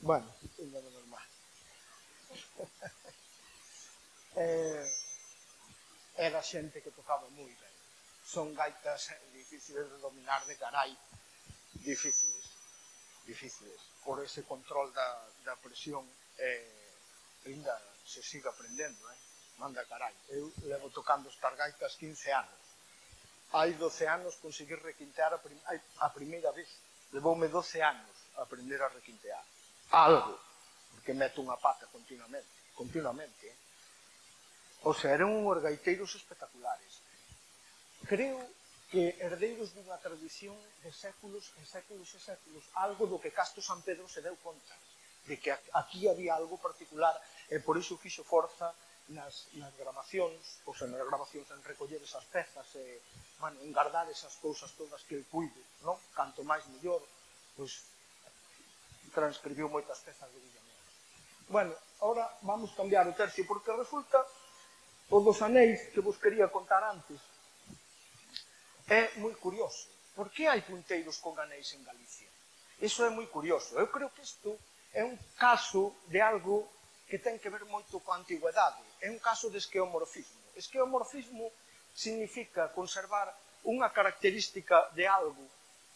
Bueno, ainda de normal. Era xente que tocaba moi ben. Son gaitas difíciles de dominar de carai, difíciles, por ese control da presión, ainda se sigue aprendendo, manda carai. Eu levo tocando estas gaitas 15 anos. Hai 12 anos conseguir requintear a primeira vez. Levoume 12 anos a aprender a requintear. Algo, porque meto unha pata continuamente. O sea, eran uns gaiteiros espectaculares. Creo que herdeiros dunha tradición de séculos e séculos e séculos, algo do que Castro San Pedro se deu conta, de que aquí había algo particular, e por iso fixo forza nas grabacións, en recoller esas pezas, en guardar esas cousas todas que el cuide, non? Canto máis mellor, pois transcribiu moitas pezas de Villamel. Bueno, ahora vamos cambiar o tercio, porque resulta o dos anéis que vos quería contar antes é moi curioso. Por que hai punteiros con anéis en Galicia? Iso é moi curioso. Eu creo que isto é un caso de algo que ten que ver moito coa antigüedade. É un caso de esqueomorfismo. Esqueomorfismo significa conservar unha característica de algo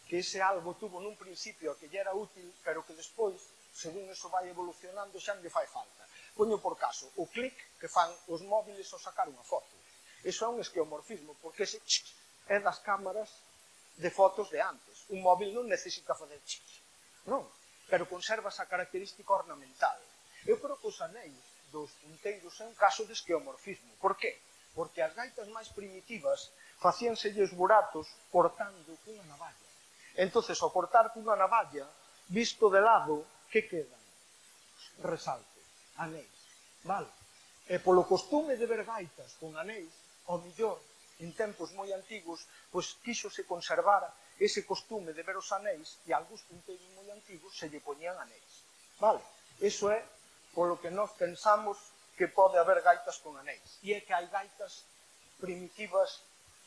que ese algo tuvo nun principio que lle era útil, pero que despois, según eso vai evolucionando, xa non lle fai falta. Poño por caso o clic que fan os móviles ao sacar unha foto. Iso é un esqueomorfismo, porque ese é das cámaras de fotos de antes. Un móvil non necesita fazer non, pero conserva esa característica ornamental. Eu creo que os anéis dos punteiros é un caso de esqueomorfismo. Por qué? Porque as gaitas máis primitivas facíanselles buratos cortando cunha navalla. Entonces, ao cortar cunha navalla, visto de lado, que quedan? Resaltos, anéis, vale? E polo costume de ver gaitas con anéis, ao millor, en tempos moi antigos, pois quíxose conservar ese costume de ver os anéis e algúns punteiros moi antigos se lle poñían anéis, vale? Iso é polo que nós pensamos que pode haber gaitas con anéis. E é que hai gaitas primitivas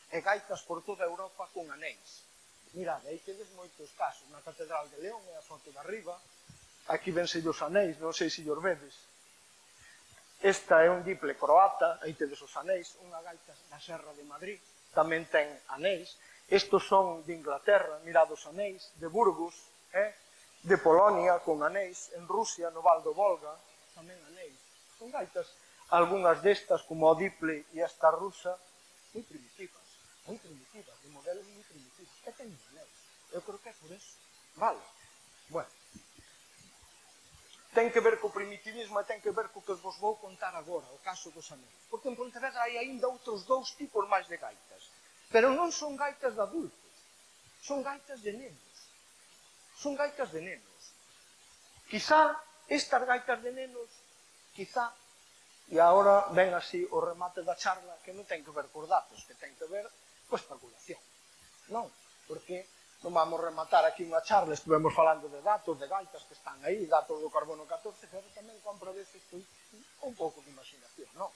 e gaitas por toda Europa con anéis. Mirad, aí tedes moitos casos. Na Catedral de León e a foto de arriba. Aquí vense os anéis, non sei se os vedes. Esta é un diple croata, aí tedes os anéis. Unha gaita da Serra de Madrid tamén ten anéis. Estos son de Inglaterra, mirad os anéis. De Burgos, de Polonia con anéis. En Rusia, no Val do Volga, tamén anéis. Son gaitas, algunhas destas, como o diple e esta rusa, moi primitivas, de modelos moi primitivos. E teñen anéis. Eu creo que é por eso. Vale. Bueno. Ten que ver co primitivismo e ten que ver co que vos vou contar agora, o caso dos anéis. Porque en Pontevedra hai aínda outros dous tipos máis de gaitas. Pero non son gaitas de adultos. Son gaitas de nenos. Son gaitas de nenos. Quizá estas gaitas de nenos, quizá, e agora ven así o remate da charla, que non ten que ver cos datos, que ten que ver coa especulación. Non, porque non vamos rematar aquí unha charla, estivemos falando de datos, de gaitas que están aí, datos do carbono 14, pero tamén compra veces un pouco de imaginación, non?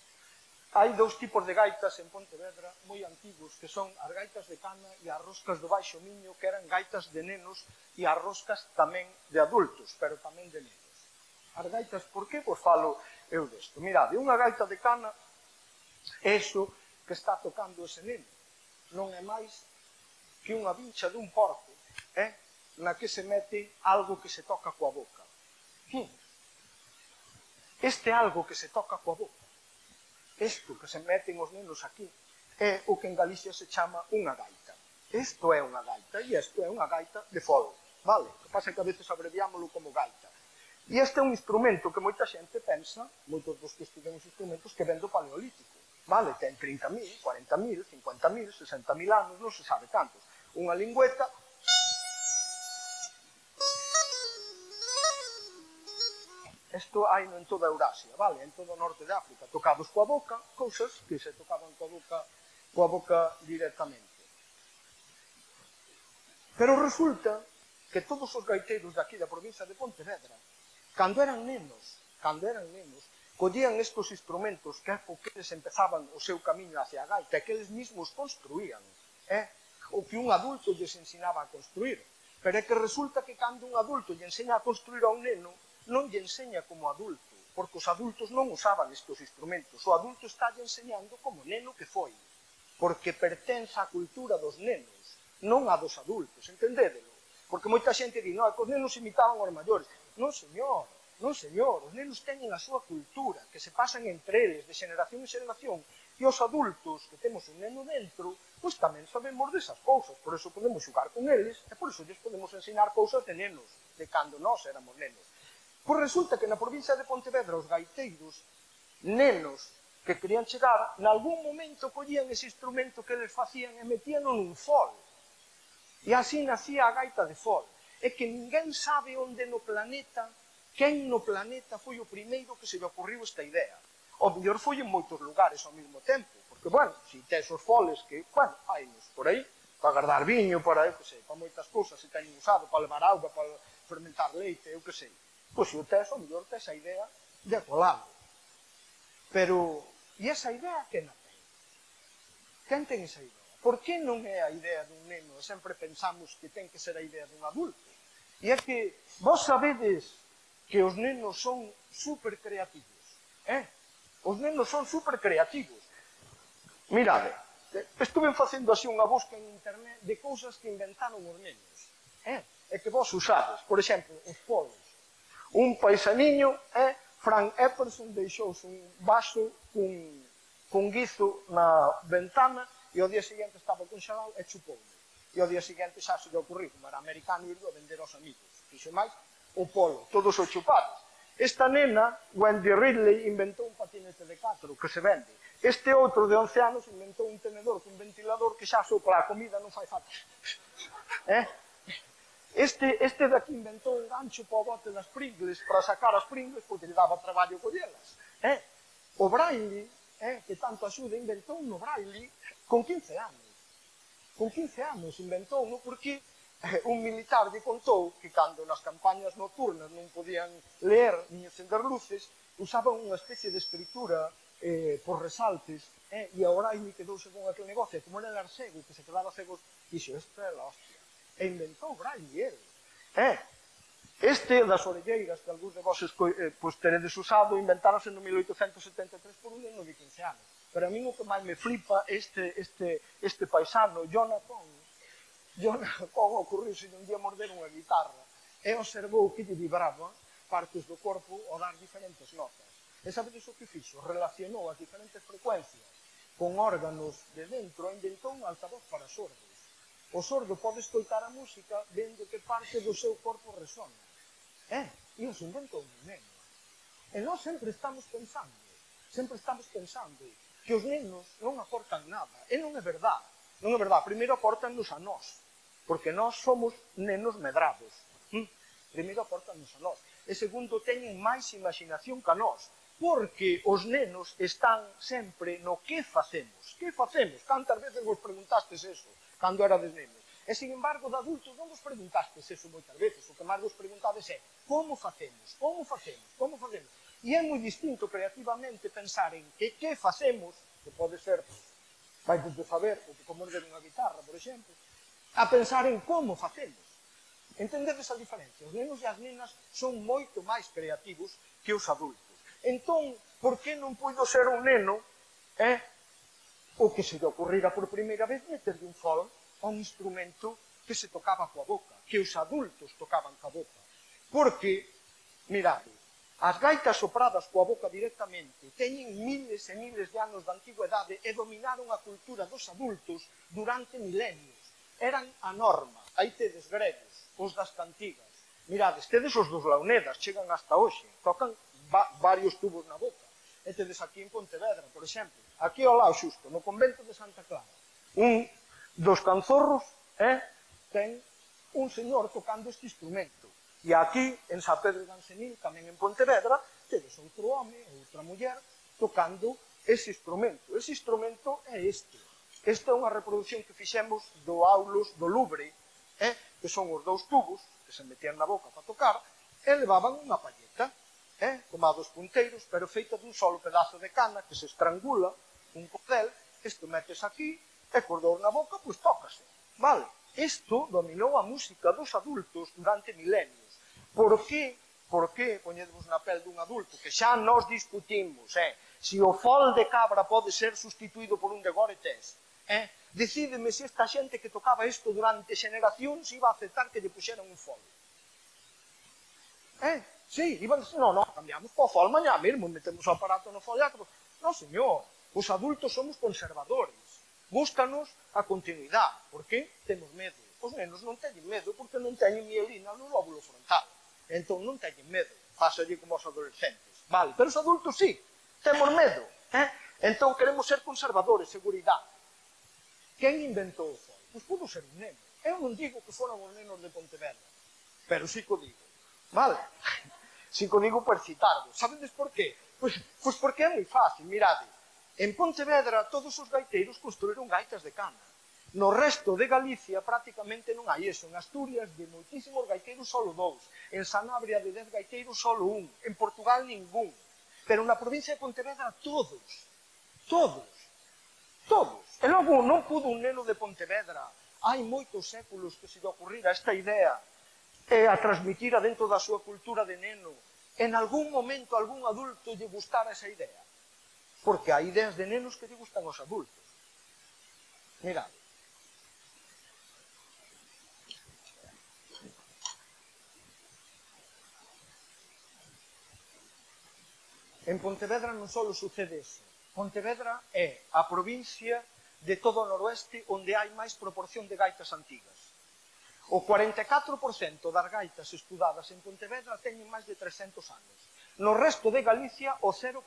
Hai dous tipos de gaitas en Pontevedra moi antigos, que son as gaitas de cana e as roscas do Baixo Miño, que eran gaitas de nenos, e as roscas tamén de adultos, pero tamén de nenos. As gaitas, por que vos falo eu desto? Mirade, unha gaita de cana é iso que está tocando ese neno. Non é máis que unha vincha dun porco, na que se mete algo que se toca coa boca. Este algo que se toca coa boca, isto que se meten os nenos aquí, é o que en Galicia se chama unha gaita. Isto é unha gaita, e isto é unha gaita de fol, vale? O que pasa é que a veces abreviámoslo como gaita. E este é un instrumento que moita xente pensa, moitos dos que estudan os instrumentos, que ven do Paleolítico, vale? Ten 30.000, 40.000, 50.000, 60.000 anos, non se sabe tantos. Unha lingüeta. Isto hai en toda Eurasia, vale? En todo o norte de África, tocados coa boca, cousas que se tocaban coa boca directamente. Pero resulta que todos os gaiteiros de aquí da provincia de Pontevedra, cando eran nenos, collían estos instrumentos que é o que eles empezaban o seu camiño hacia a gaita, que eles mismos construían, o que un adulto lles ensinaba a construir. Pero é que resulta que cando un adulto lle ensena a construir a un neno, non lle ensena como adulto, porque os adultos non usaban estes instrumentos. O adulto está lle enseñando como neno que foi, porque pertence á cultura dos nenos, non a dos adultos, entendédelo? Porque moita xente di, non, que os nenos imitaban aos maiores. Non, señor, non, señor, os nenos teñen a súa cultura, que se pasan entre eles, de xeración en xeración, e os adultos, que temos un neno dentro, pois tamén sabemos desas cousas, por eso podemos xogar con eles, e por eso lles podemos ensinar cousas de nenos, de cando nós éramos nenos. Pois resulta que na provincia de Pontevedra os gaiteiros, nenos que querían chegar, nalgún momento collían ese instrumento que eles facían e metían nun fol. E así nacía a gaita de fol. É que ninguén sabe onde no planeta, quen no planeta foi o primeiro que se lle ocurriu esta idea. O mellor foi en moitos lugares ao mesmo tempo, porque, bueno, se tes os foles que, bueno, hainos por aí, para guardar viño, para, eu que sei, para moitas cousas se teñen usado, para levar auga, para fermentar leite, eu que sei. Pois se o tes, o mellor tes a idea de colalo. Pero, e esa idea quen a ten? Quen ten esa idea? Por que non é a idea dun neno? Sempre pensamos que ten que ser a idea dun adulto. E é que vos sabedes que os nenos son super creativos. Os nenos son super creativos. Mirade, estuve facendo así unha busca en internet de cousas que inventaron os nenos. E que vos usades. Por exemplo, os polos. Un paisaniño, Frank Epperson, deixouse un vaso cun guizo na ventana e ao día seguinte estaba conxelado e chupoume. E ao día seguinte xa se lle ocurriu, como era americano, irlo a vender aos amigos. Fixo máis, o polo, todos os chupados. Esta nena, Wendy Ridley, inventou un patinete de 4 que se vende. Este outro de 11 anos inventou un tenedor con ventilador que xa sopla a comida non fai falta. Este daqui inventou un gancho para o bote das Pringles para sacar as Pringles porque lle daba traballo collelas. O Braille, que tanto axuda, inventou no Braille con 15 anos. Con 15 anos inventou, porque un militar lle contou que cando nas campañas nocturnas non podían ler ni encender luces, usaban unha especie de escritura por resaltes, e a Braille quedouse con aquel negocio, como era el cego, que se quedaba cego, dixo, esta é la hostia. E inventou Braille, Este das orelleiras que algúns de vos teredes usado, inventáronse no 1873 por un neno de 15 anos. Pero a mí o que máis me flipa este paisano, Jonathan ocurriuse un día morder unha guitarra e observou que lle vibraba partes do corpo ao dar diferentes notas. E sabedes o que fixo? Relacionou as diferentes frecuencias con órganos de dentro e inventou un altavoz para sordos. O sordo pode escoitar a música vendo que parte do seu corpo resona. E os inventou un neno. E nós sempre estamos pensando que os nenos non aportan nada. E non é verdade. Non é verdade. Primeiro aportannos a nós, porque nós somos nenos medrados. Primeiro aportannos a nós. E segundo, teñen máis imaginación que a nós, porque os nenos están sempre no que facemos. Que facemos? Cantas veces vos preguntastes eso cando erades nenos? E, sin embargo, de adultos non vos preguntastes eso moitas veces. O que máis vos preguntades é como facemos, como facemos, como facemos. E é moi distinto creativamente pensar en que facemos, que pode ser, vai desde saber, o que como erguer unha guitarra, por exemplo, a pensar en como facemos. Entendedes a diferencia? Os nenos e as nenas son moito máis creativos que os adultos. Entón, por que non puido ser un neno o que se lle ocurrira por primeira vez meterlle un fol a un instrumento que se tocaba coa boca, que os adultos tocaban coa boca? Porque, mirade, As gaitas sopradas coa boca directamente teñen miles e miles de anos de antigüedade e dominaron a cultura dos adultos durante milenios. Eran a norma. Aí tedes gregos, os das cantigas. Mirades, tedes os dos Launedas, chegan hasta hoxe, tocan varios tubos na boca. E tedes aquí en Pontevedra, por exemplo, aquí ao lado xusto, no convento de Santa Clara, un dos canzorros ten un señor tocando este instrumento. E aquí, en San Pedro de Ansenil, tamén en Pontevedra, tedes outro home, outra muller, tocando ese instrumento. Ese instrumento é este. Esta é unha reproducción que fixemos do aulos do Louvre, que son os dous tubos que se metían na boca para tocar, e levaban unha palleta, como a dos punteiros, pero feita dun solo pedazo de cana que se estrangula, un cordel, isto metes aquí, e cos dous na boca, pois tócase. Vale? Isto dominou a música dos adultos durante milenios. Por que? Porque poñedevos na pel dun adulto, que xa nos discutimos, se o fol de cabra pode ser sustituído por un de Goretés, decídeme se esta xente que tocaba isto durante xeneracións iba a aceptar que lle puxeran un fol. Sí, iban a decir, non, cambiamos po fol mañá mesmo, metemos o aparato no foliato. Non, señor, os adultos somos conservadores, búscanos a continuidade, porque temos medo. Os nenos non teñen medo porque non teñen mielina no lóbulo frontal. Entón non teñen medo, pásalle como os adolescentes. Vale, pero os adultos sí, temos medo. Entón queremos ser conservadores, seguridade. Quen inventou o fol? Pois pudo ser un neno. Eu non digo que foran os nenos de Pontevedra, pero sí que o digo. Vale? Sí que o digo por citarvos. Sabedes por qué? Pois porque é moi fácil, mirade. En Pontevedra todos os gaiteiros construíron gaitas de cana. No resto de Galicia prácticamente non hai eso. En Asturias de moitísimos gaiteiros solo 2. En Sanabria de 10 gaiteiros solo 1. En Portugal ningún. Pero na provincia de Pontevedra todos. Todos. Todos. E logo non pudo un neno de Pontevedra, hai moitos séculos que se lle ocurrira esta idea a transmitira dentro da súa cultura de neno. En algún momento algún adulto lle gustara esa idea. Porque hai ideas de nenos que lle gustan aos adultos. Mirad. En Pontevedra non só sucede eso. Pontevedra é a provincia de todo o noroeste onde hai máis proporción de gaitas antigas. O 44% das gaitas estudadas en Pontevedra teñen máis de 300 anos. No resto de Galicia, o 0%.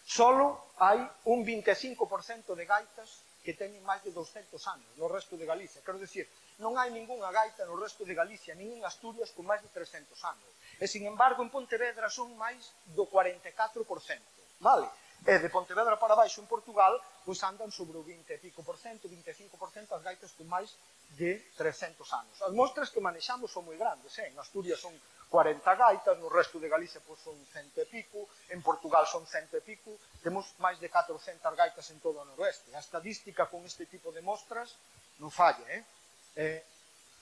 Solo hai un 25% de gaitas que teñen máis de 200 anos no resto de Galicia. Quero dicir, non hai ningunha gaita no resto de Galicia, nin en Asturias con máis de 300 anos. E, sin embargo, en Pontevedra son máis do 44%. Vale? E de Pontevedra para baixo en Portugal, pois andan sobre o 20 e pico por cento, 25% as gaitas con máis de 300 anos. As mostras que manexamos son moi grandes, en Asturias son 40 gaitas, no resto de Galicia pois son 100 e pico, en Portugal son 100 e pico, temos máis de 400 gaitas en todo o noroeste. A estadística con este tipo de mostras non falla, é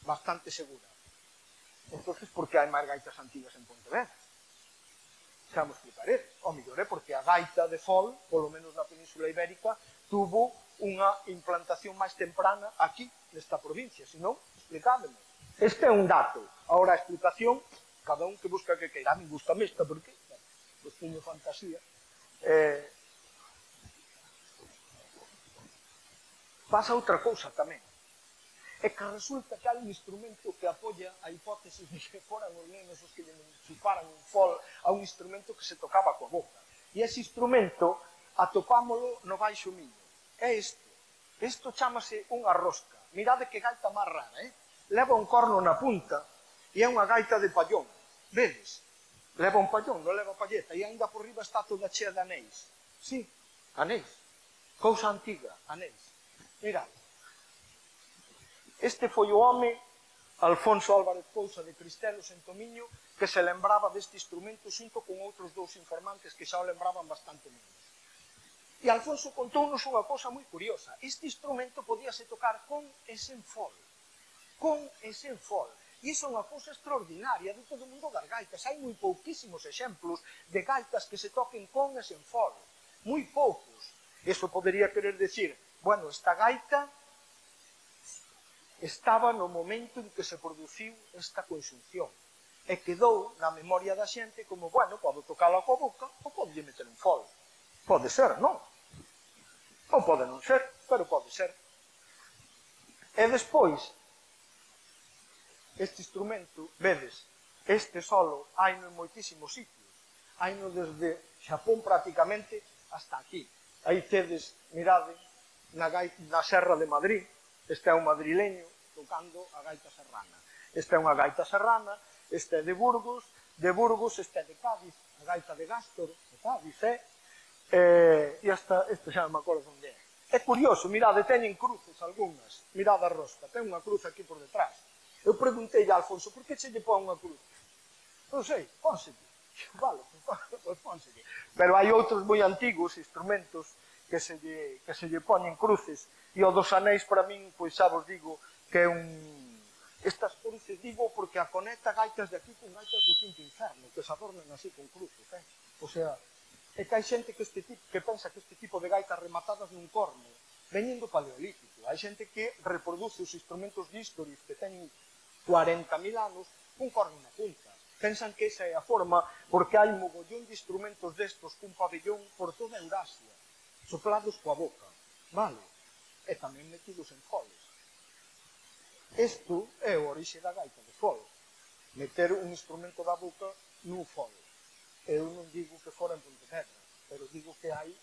bastante segura. Entón, por que hai máis gaitas antigas en Pontevedra? Xa me explicaré. O mellor é porque a gaita de fol, polo menos na Península Ibérica, tuvo unha implantación máis temprana aquí, nesta provincia. Se non, explicádeme. Este é un dato. Ahora a explicación, cada un que busca que queira. A mí gusta esta, porque pois teño fantasía. Pasa outra cousa tamén. É que resulta que hai un instrumento que apoia a hipótesis de que foran os nenos os que chuparan un fol a un instrumento que se tocaba coa boca. E ese instrumento atopámolo no Baixo Miño. É isto. Isto chamase unha rosca. Mirade que gaita máis rara, Leva un corno na punta e é unha gaita de pallón. Vedes? Leva un pallón, non leva palleta. E ainda por riba está toda chea de anéis. Sí, anéis. Cousa antiga, anéis. Mirade. Este foi o home, Alfonso Álvarez Pousa de Cristelos en Tomiño, que se lembraba deste instrumento xunto con outros dous informantes que xa o lembraban bastante menos. E Alfonso contounos unha cousa moi curiosa. Este instrumento podíase tocar con e sen fol. Con e sen fol. E iso é unha cousa extraordinaria de todo o mundo das gaitas. Hai moi pouquísimos exemplos de gaitas que se toquen con e sen fol. Moi poucos. Iso podería querer decir, bueno, esta gaita estaba no momento en que se produciu esta conxunción. e quedou na memoria da xente como, bueno, podo tocala coa boca ou podo lle meter un fol. Pode ser, non? Ou pode non ser, pero pode ser. E despois, este instrumento, vedes, este solo haino en moitísimos sitios. Haino desde Xapón prácticamente hasta aquí. Aí tedes, mirade, na Serra de Madrid, este é un madrileño tocando a gaita serrana. Esta é unha gaita serrana, este é de Burgos este é de Cádiz, a gaita de Gástor, de Cádiz, e esta xa non me acordo onde é. É curioso, mirade, teñen cruces algunhas, mirade a rosca, ten unha cruz aquí por detrás. Eu preguntei a Alfonso, por que se lle pon unha cruz? Non sei, pónselle. Vale, pois pónselle. Pero hai outros moi antigos instrumentos que se lle poñen cruces, e o dos anéis para min, pois xa vos digo, que é un... Estas cruces digo porque a conecta gaitas de aquí con gaitas do quinto inferno, que se adornan así con cruces, O sea, é que hai xente que pensa que este tipo de gaitas rematadas nun corno veñen do paleolítico. Hai xente que reproduce os instrumentos dístoris que teñen 40.000 anos cun corno na punta. Pensan que esa é a forma porque hai mogollón de instrumentos destos cun pabellón por toda Eurasia, soplados coa boca, vale? E tamén metidos en foles. Isto é o orixe da gaita de fol, meter un instrumento da boca nun fol. Eu non digo que fora en Pontevedra, pero digo que hai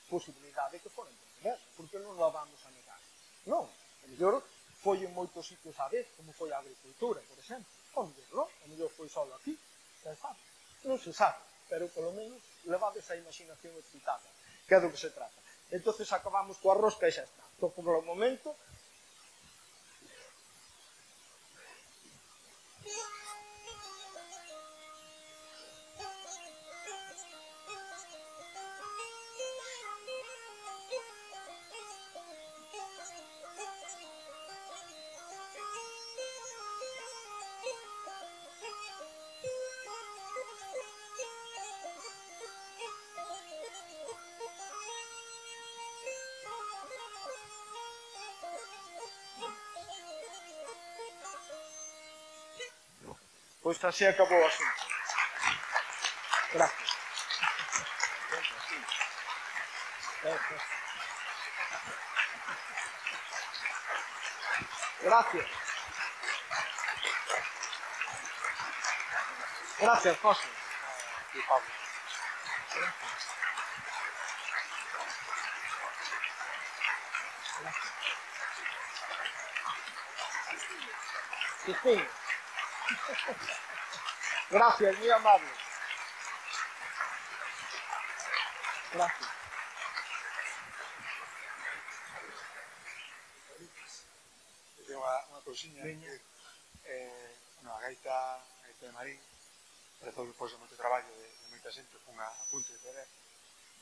posibilidade que fora en Pontevedra, porque non lo vamos a negar. Non, a mellor foi en moitos sitios a vez, como foi a agricultura, por exemplo. Onde, non? A mellor foi só aquí, non se sabe, pero polo menos levades a imaginación excitada, que é do que se trata. Entonces acabamos coa rosca e xa está. Entón, por o momento, pois así acabou o asunto. Gracias. Gracias. Gracias, José. Y Pablo. Cristina. Gracias, muy amable. Gracias. Tengo unha cousiña que a gaita de Marín rezou depois de moito traballo de moita xente con a punto de poder,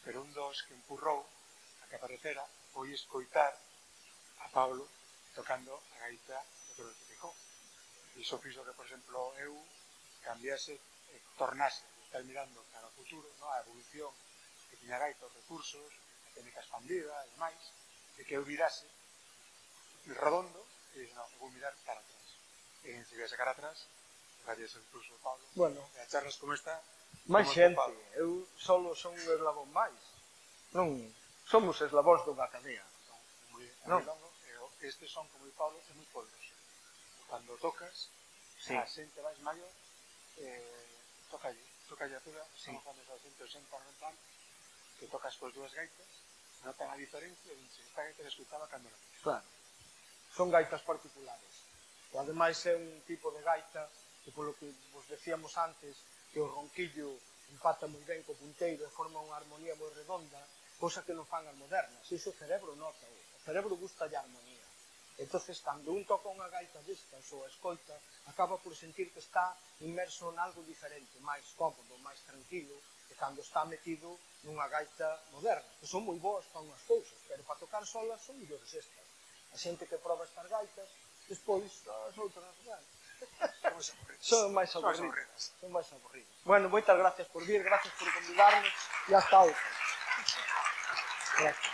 pero un dos que empurrou a que aparecera foi escoitar a Pablo tocando a gaita do Toro de Picó. Iso fixo que, por exemplo, eu cambiase e tornase de estar mirando cara ao futuro, a evolución que tiña a gaita, os recursos, a técnica expandida e demais, e que eu virase redondo e dixo, non, vou mirar cara atrás. E en seguir ese cara atrás, gracias ao impulso de Pablo, e a charlas como esta, máis xente, eu solo son un eslabón máis, non somos eslabóns dunha cadea. Moi longo, e estes son, como di Pablo, é moi poderoso. Cando tocas, a xente máis maior, tocalle a toda, estamos falando a xente 80, 90 anos, que tocas coas dúas gaitas, notan a diferencia, e dice, esta gaita se escutaba cando era niño. Claro, son gaitas particulares. E ademais é un tipo de gaita que, polo que vos decíamos antes, que o ronquillo empata moi ben co punteiro e forma unha armonía moi redonda, cosa que non fan as modernas. Iso o cerebro nota, o cerebro gusta de armonía. Entonces, cando un toca unha gaita destas ou a escoita, acaba por sentir que está inmerso en algo diferente, máis cómodo, máis tranquilo, que cando está metido nunha gaita moderna, que son moi boas para unhas cousas, pero para tocar solas son mellores estas. A xente que proba estas gaitas, despois as outras, son máis aburridas. Son máis aburridas. Bueno, moitas gracias por vir, gracias por convidarnos, e hasta outra. Gracias.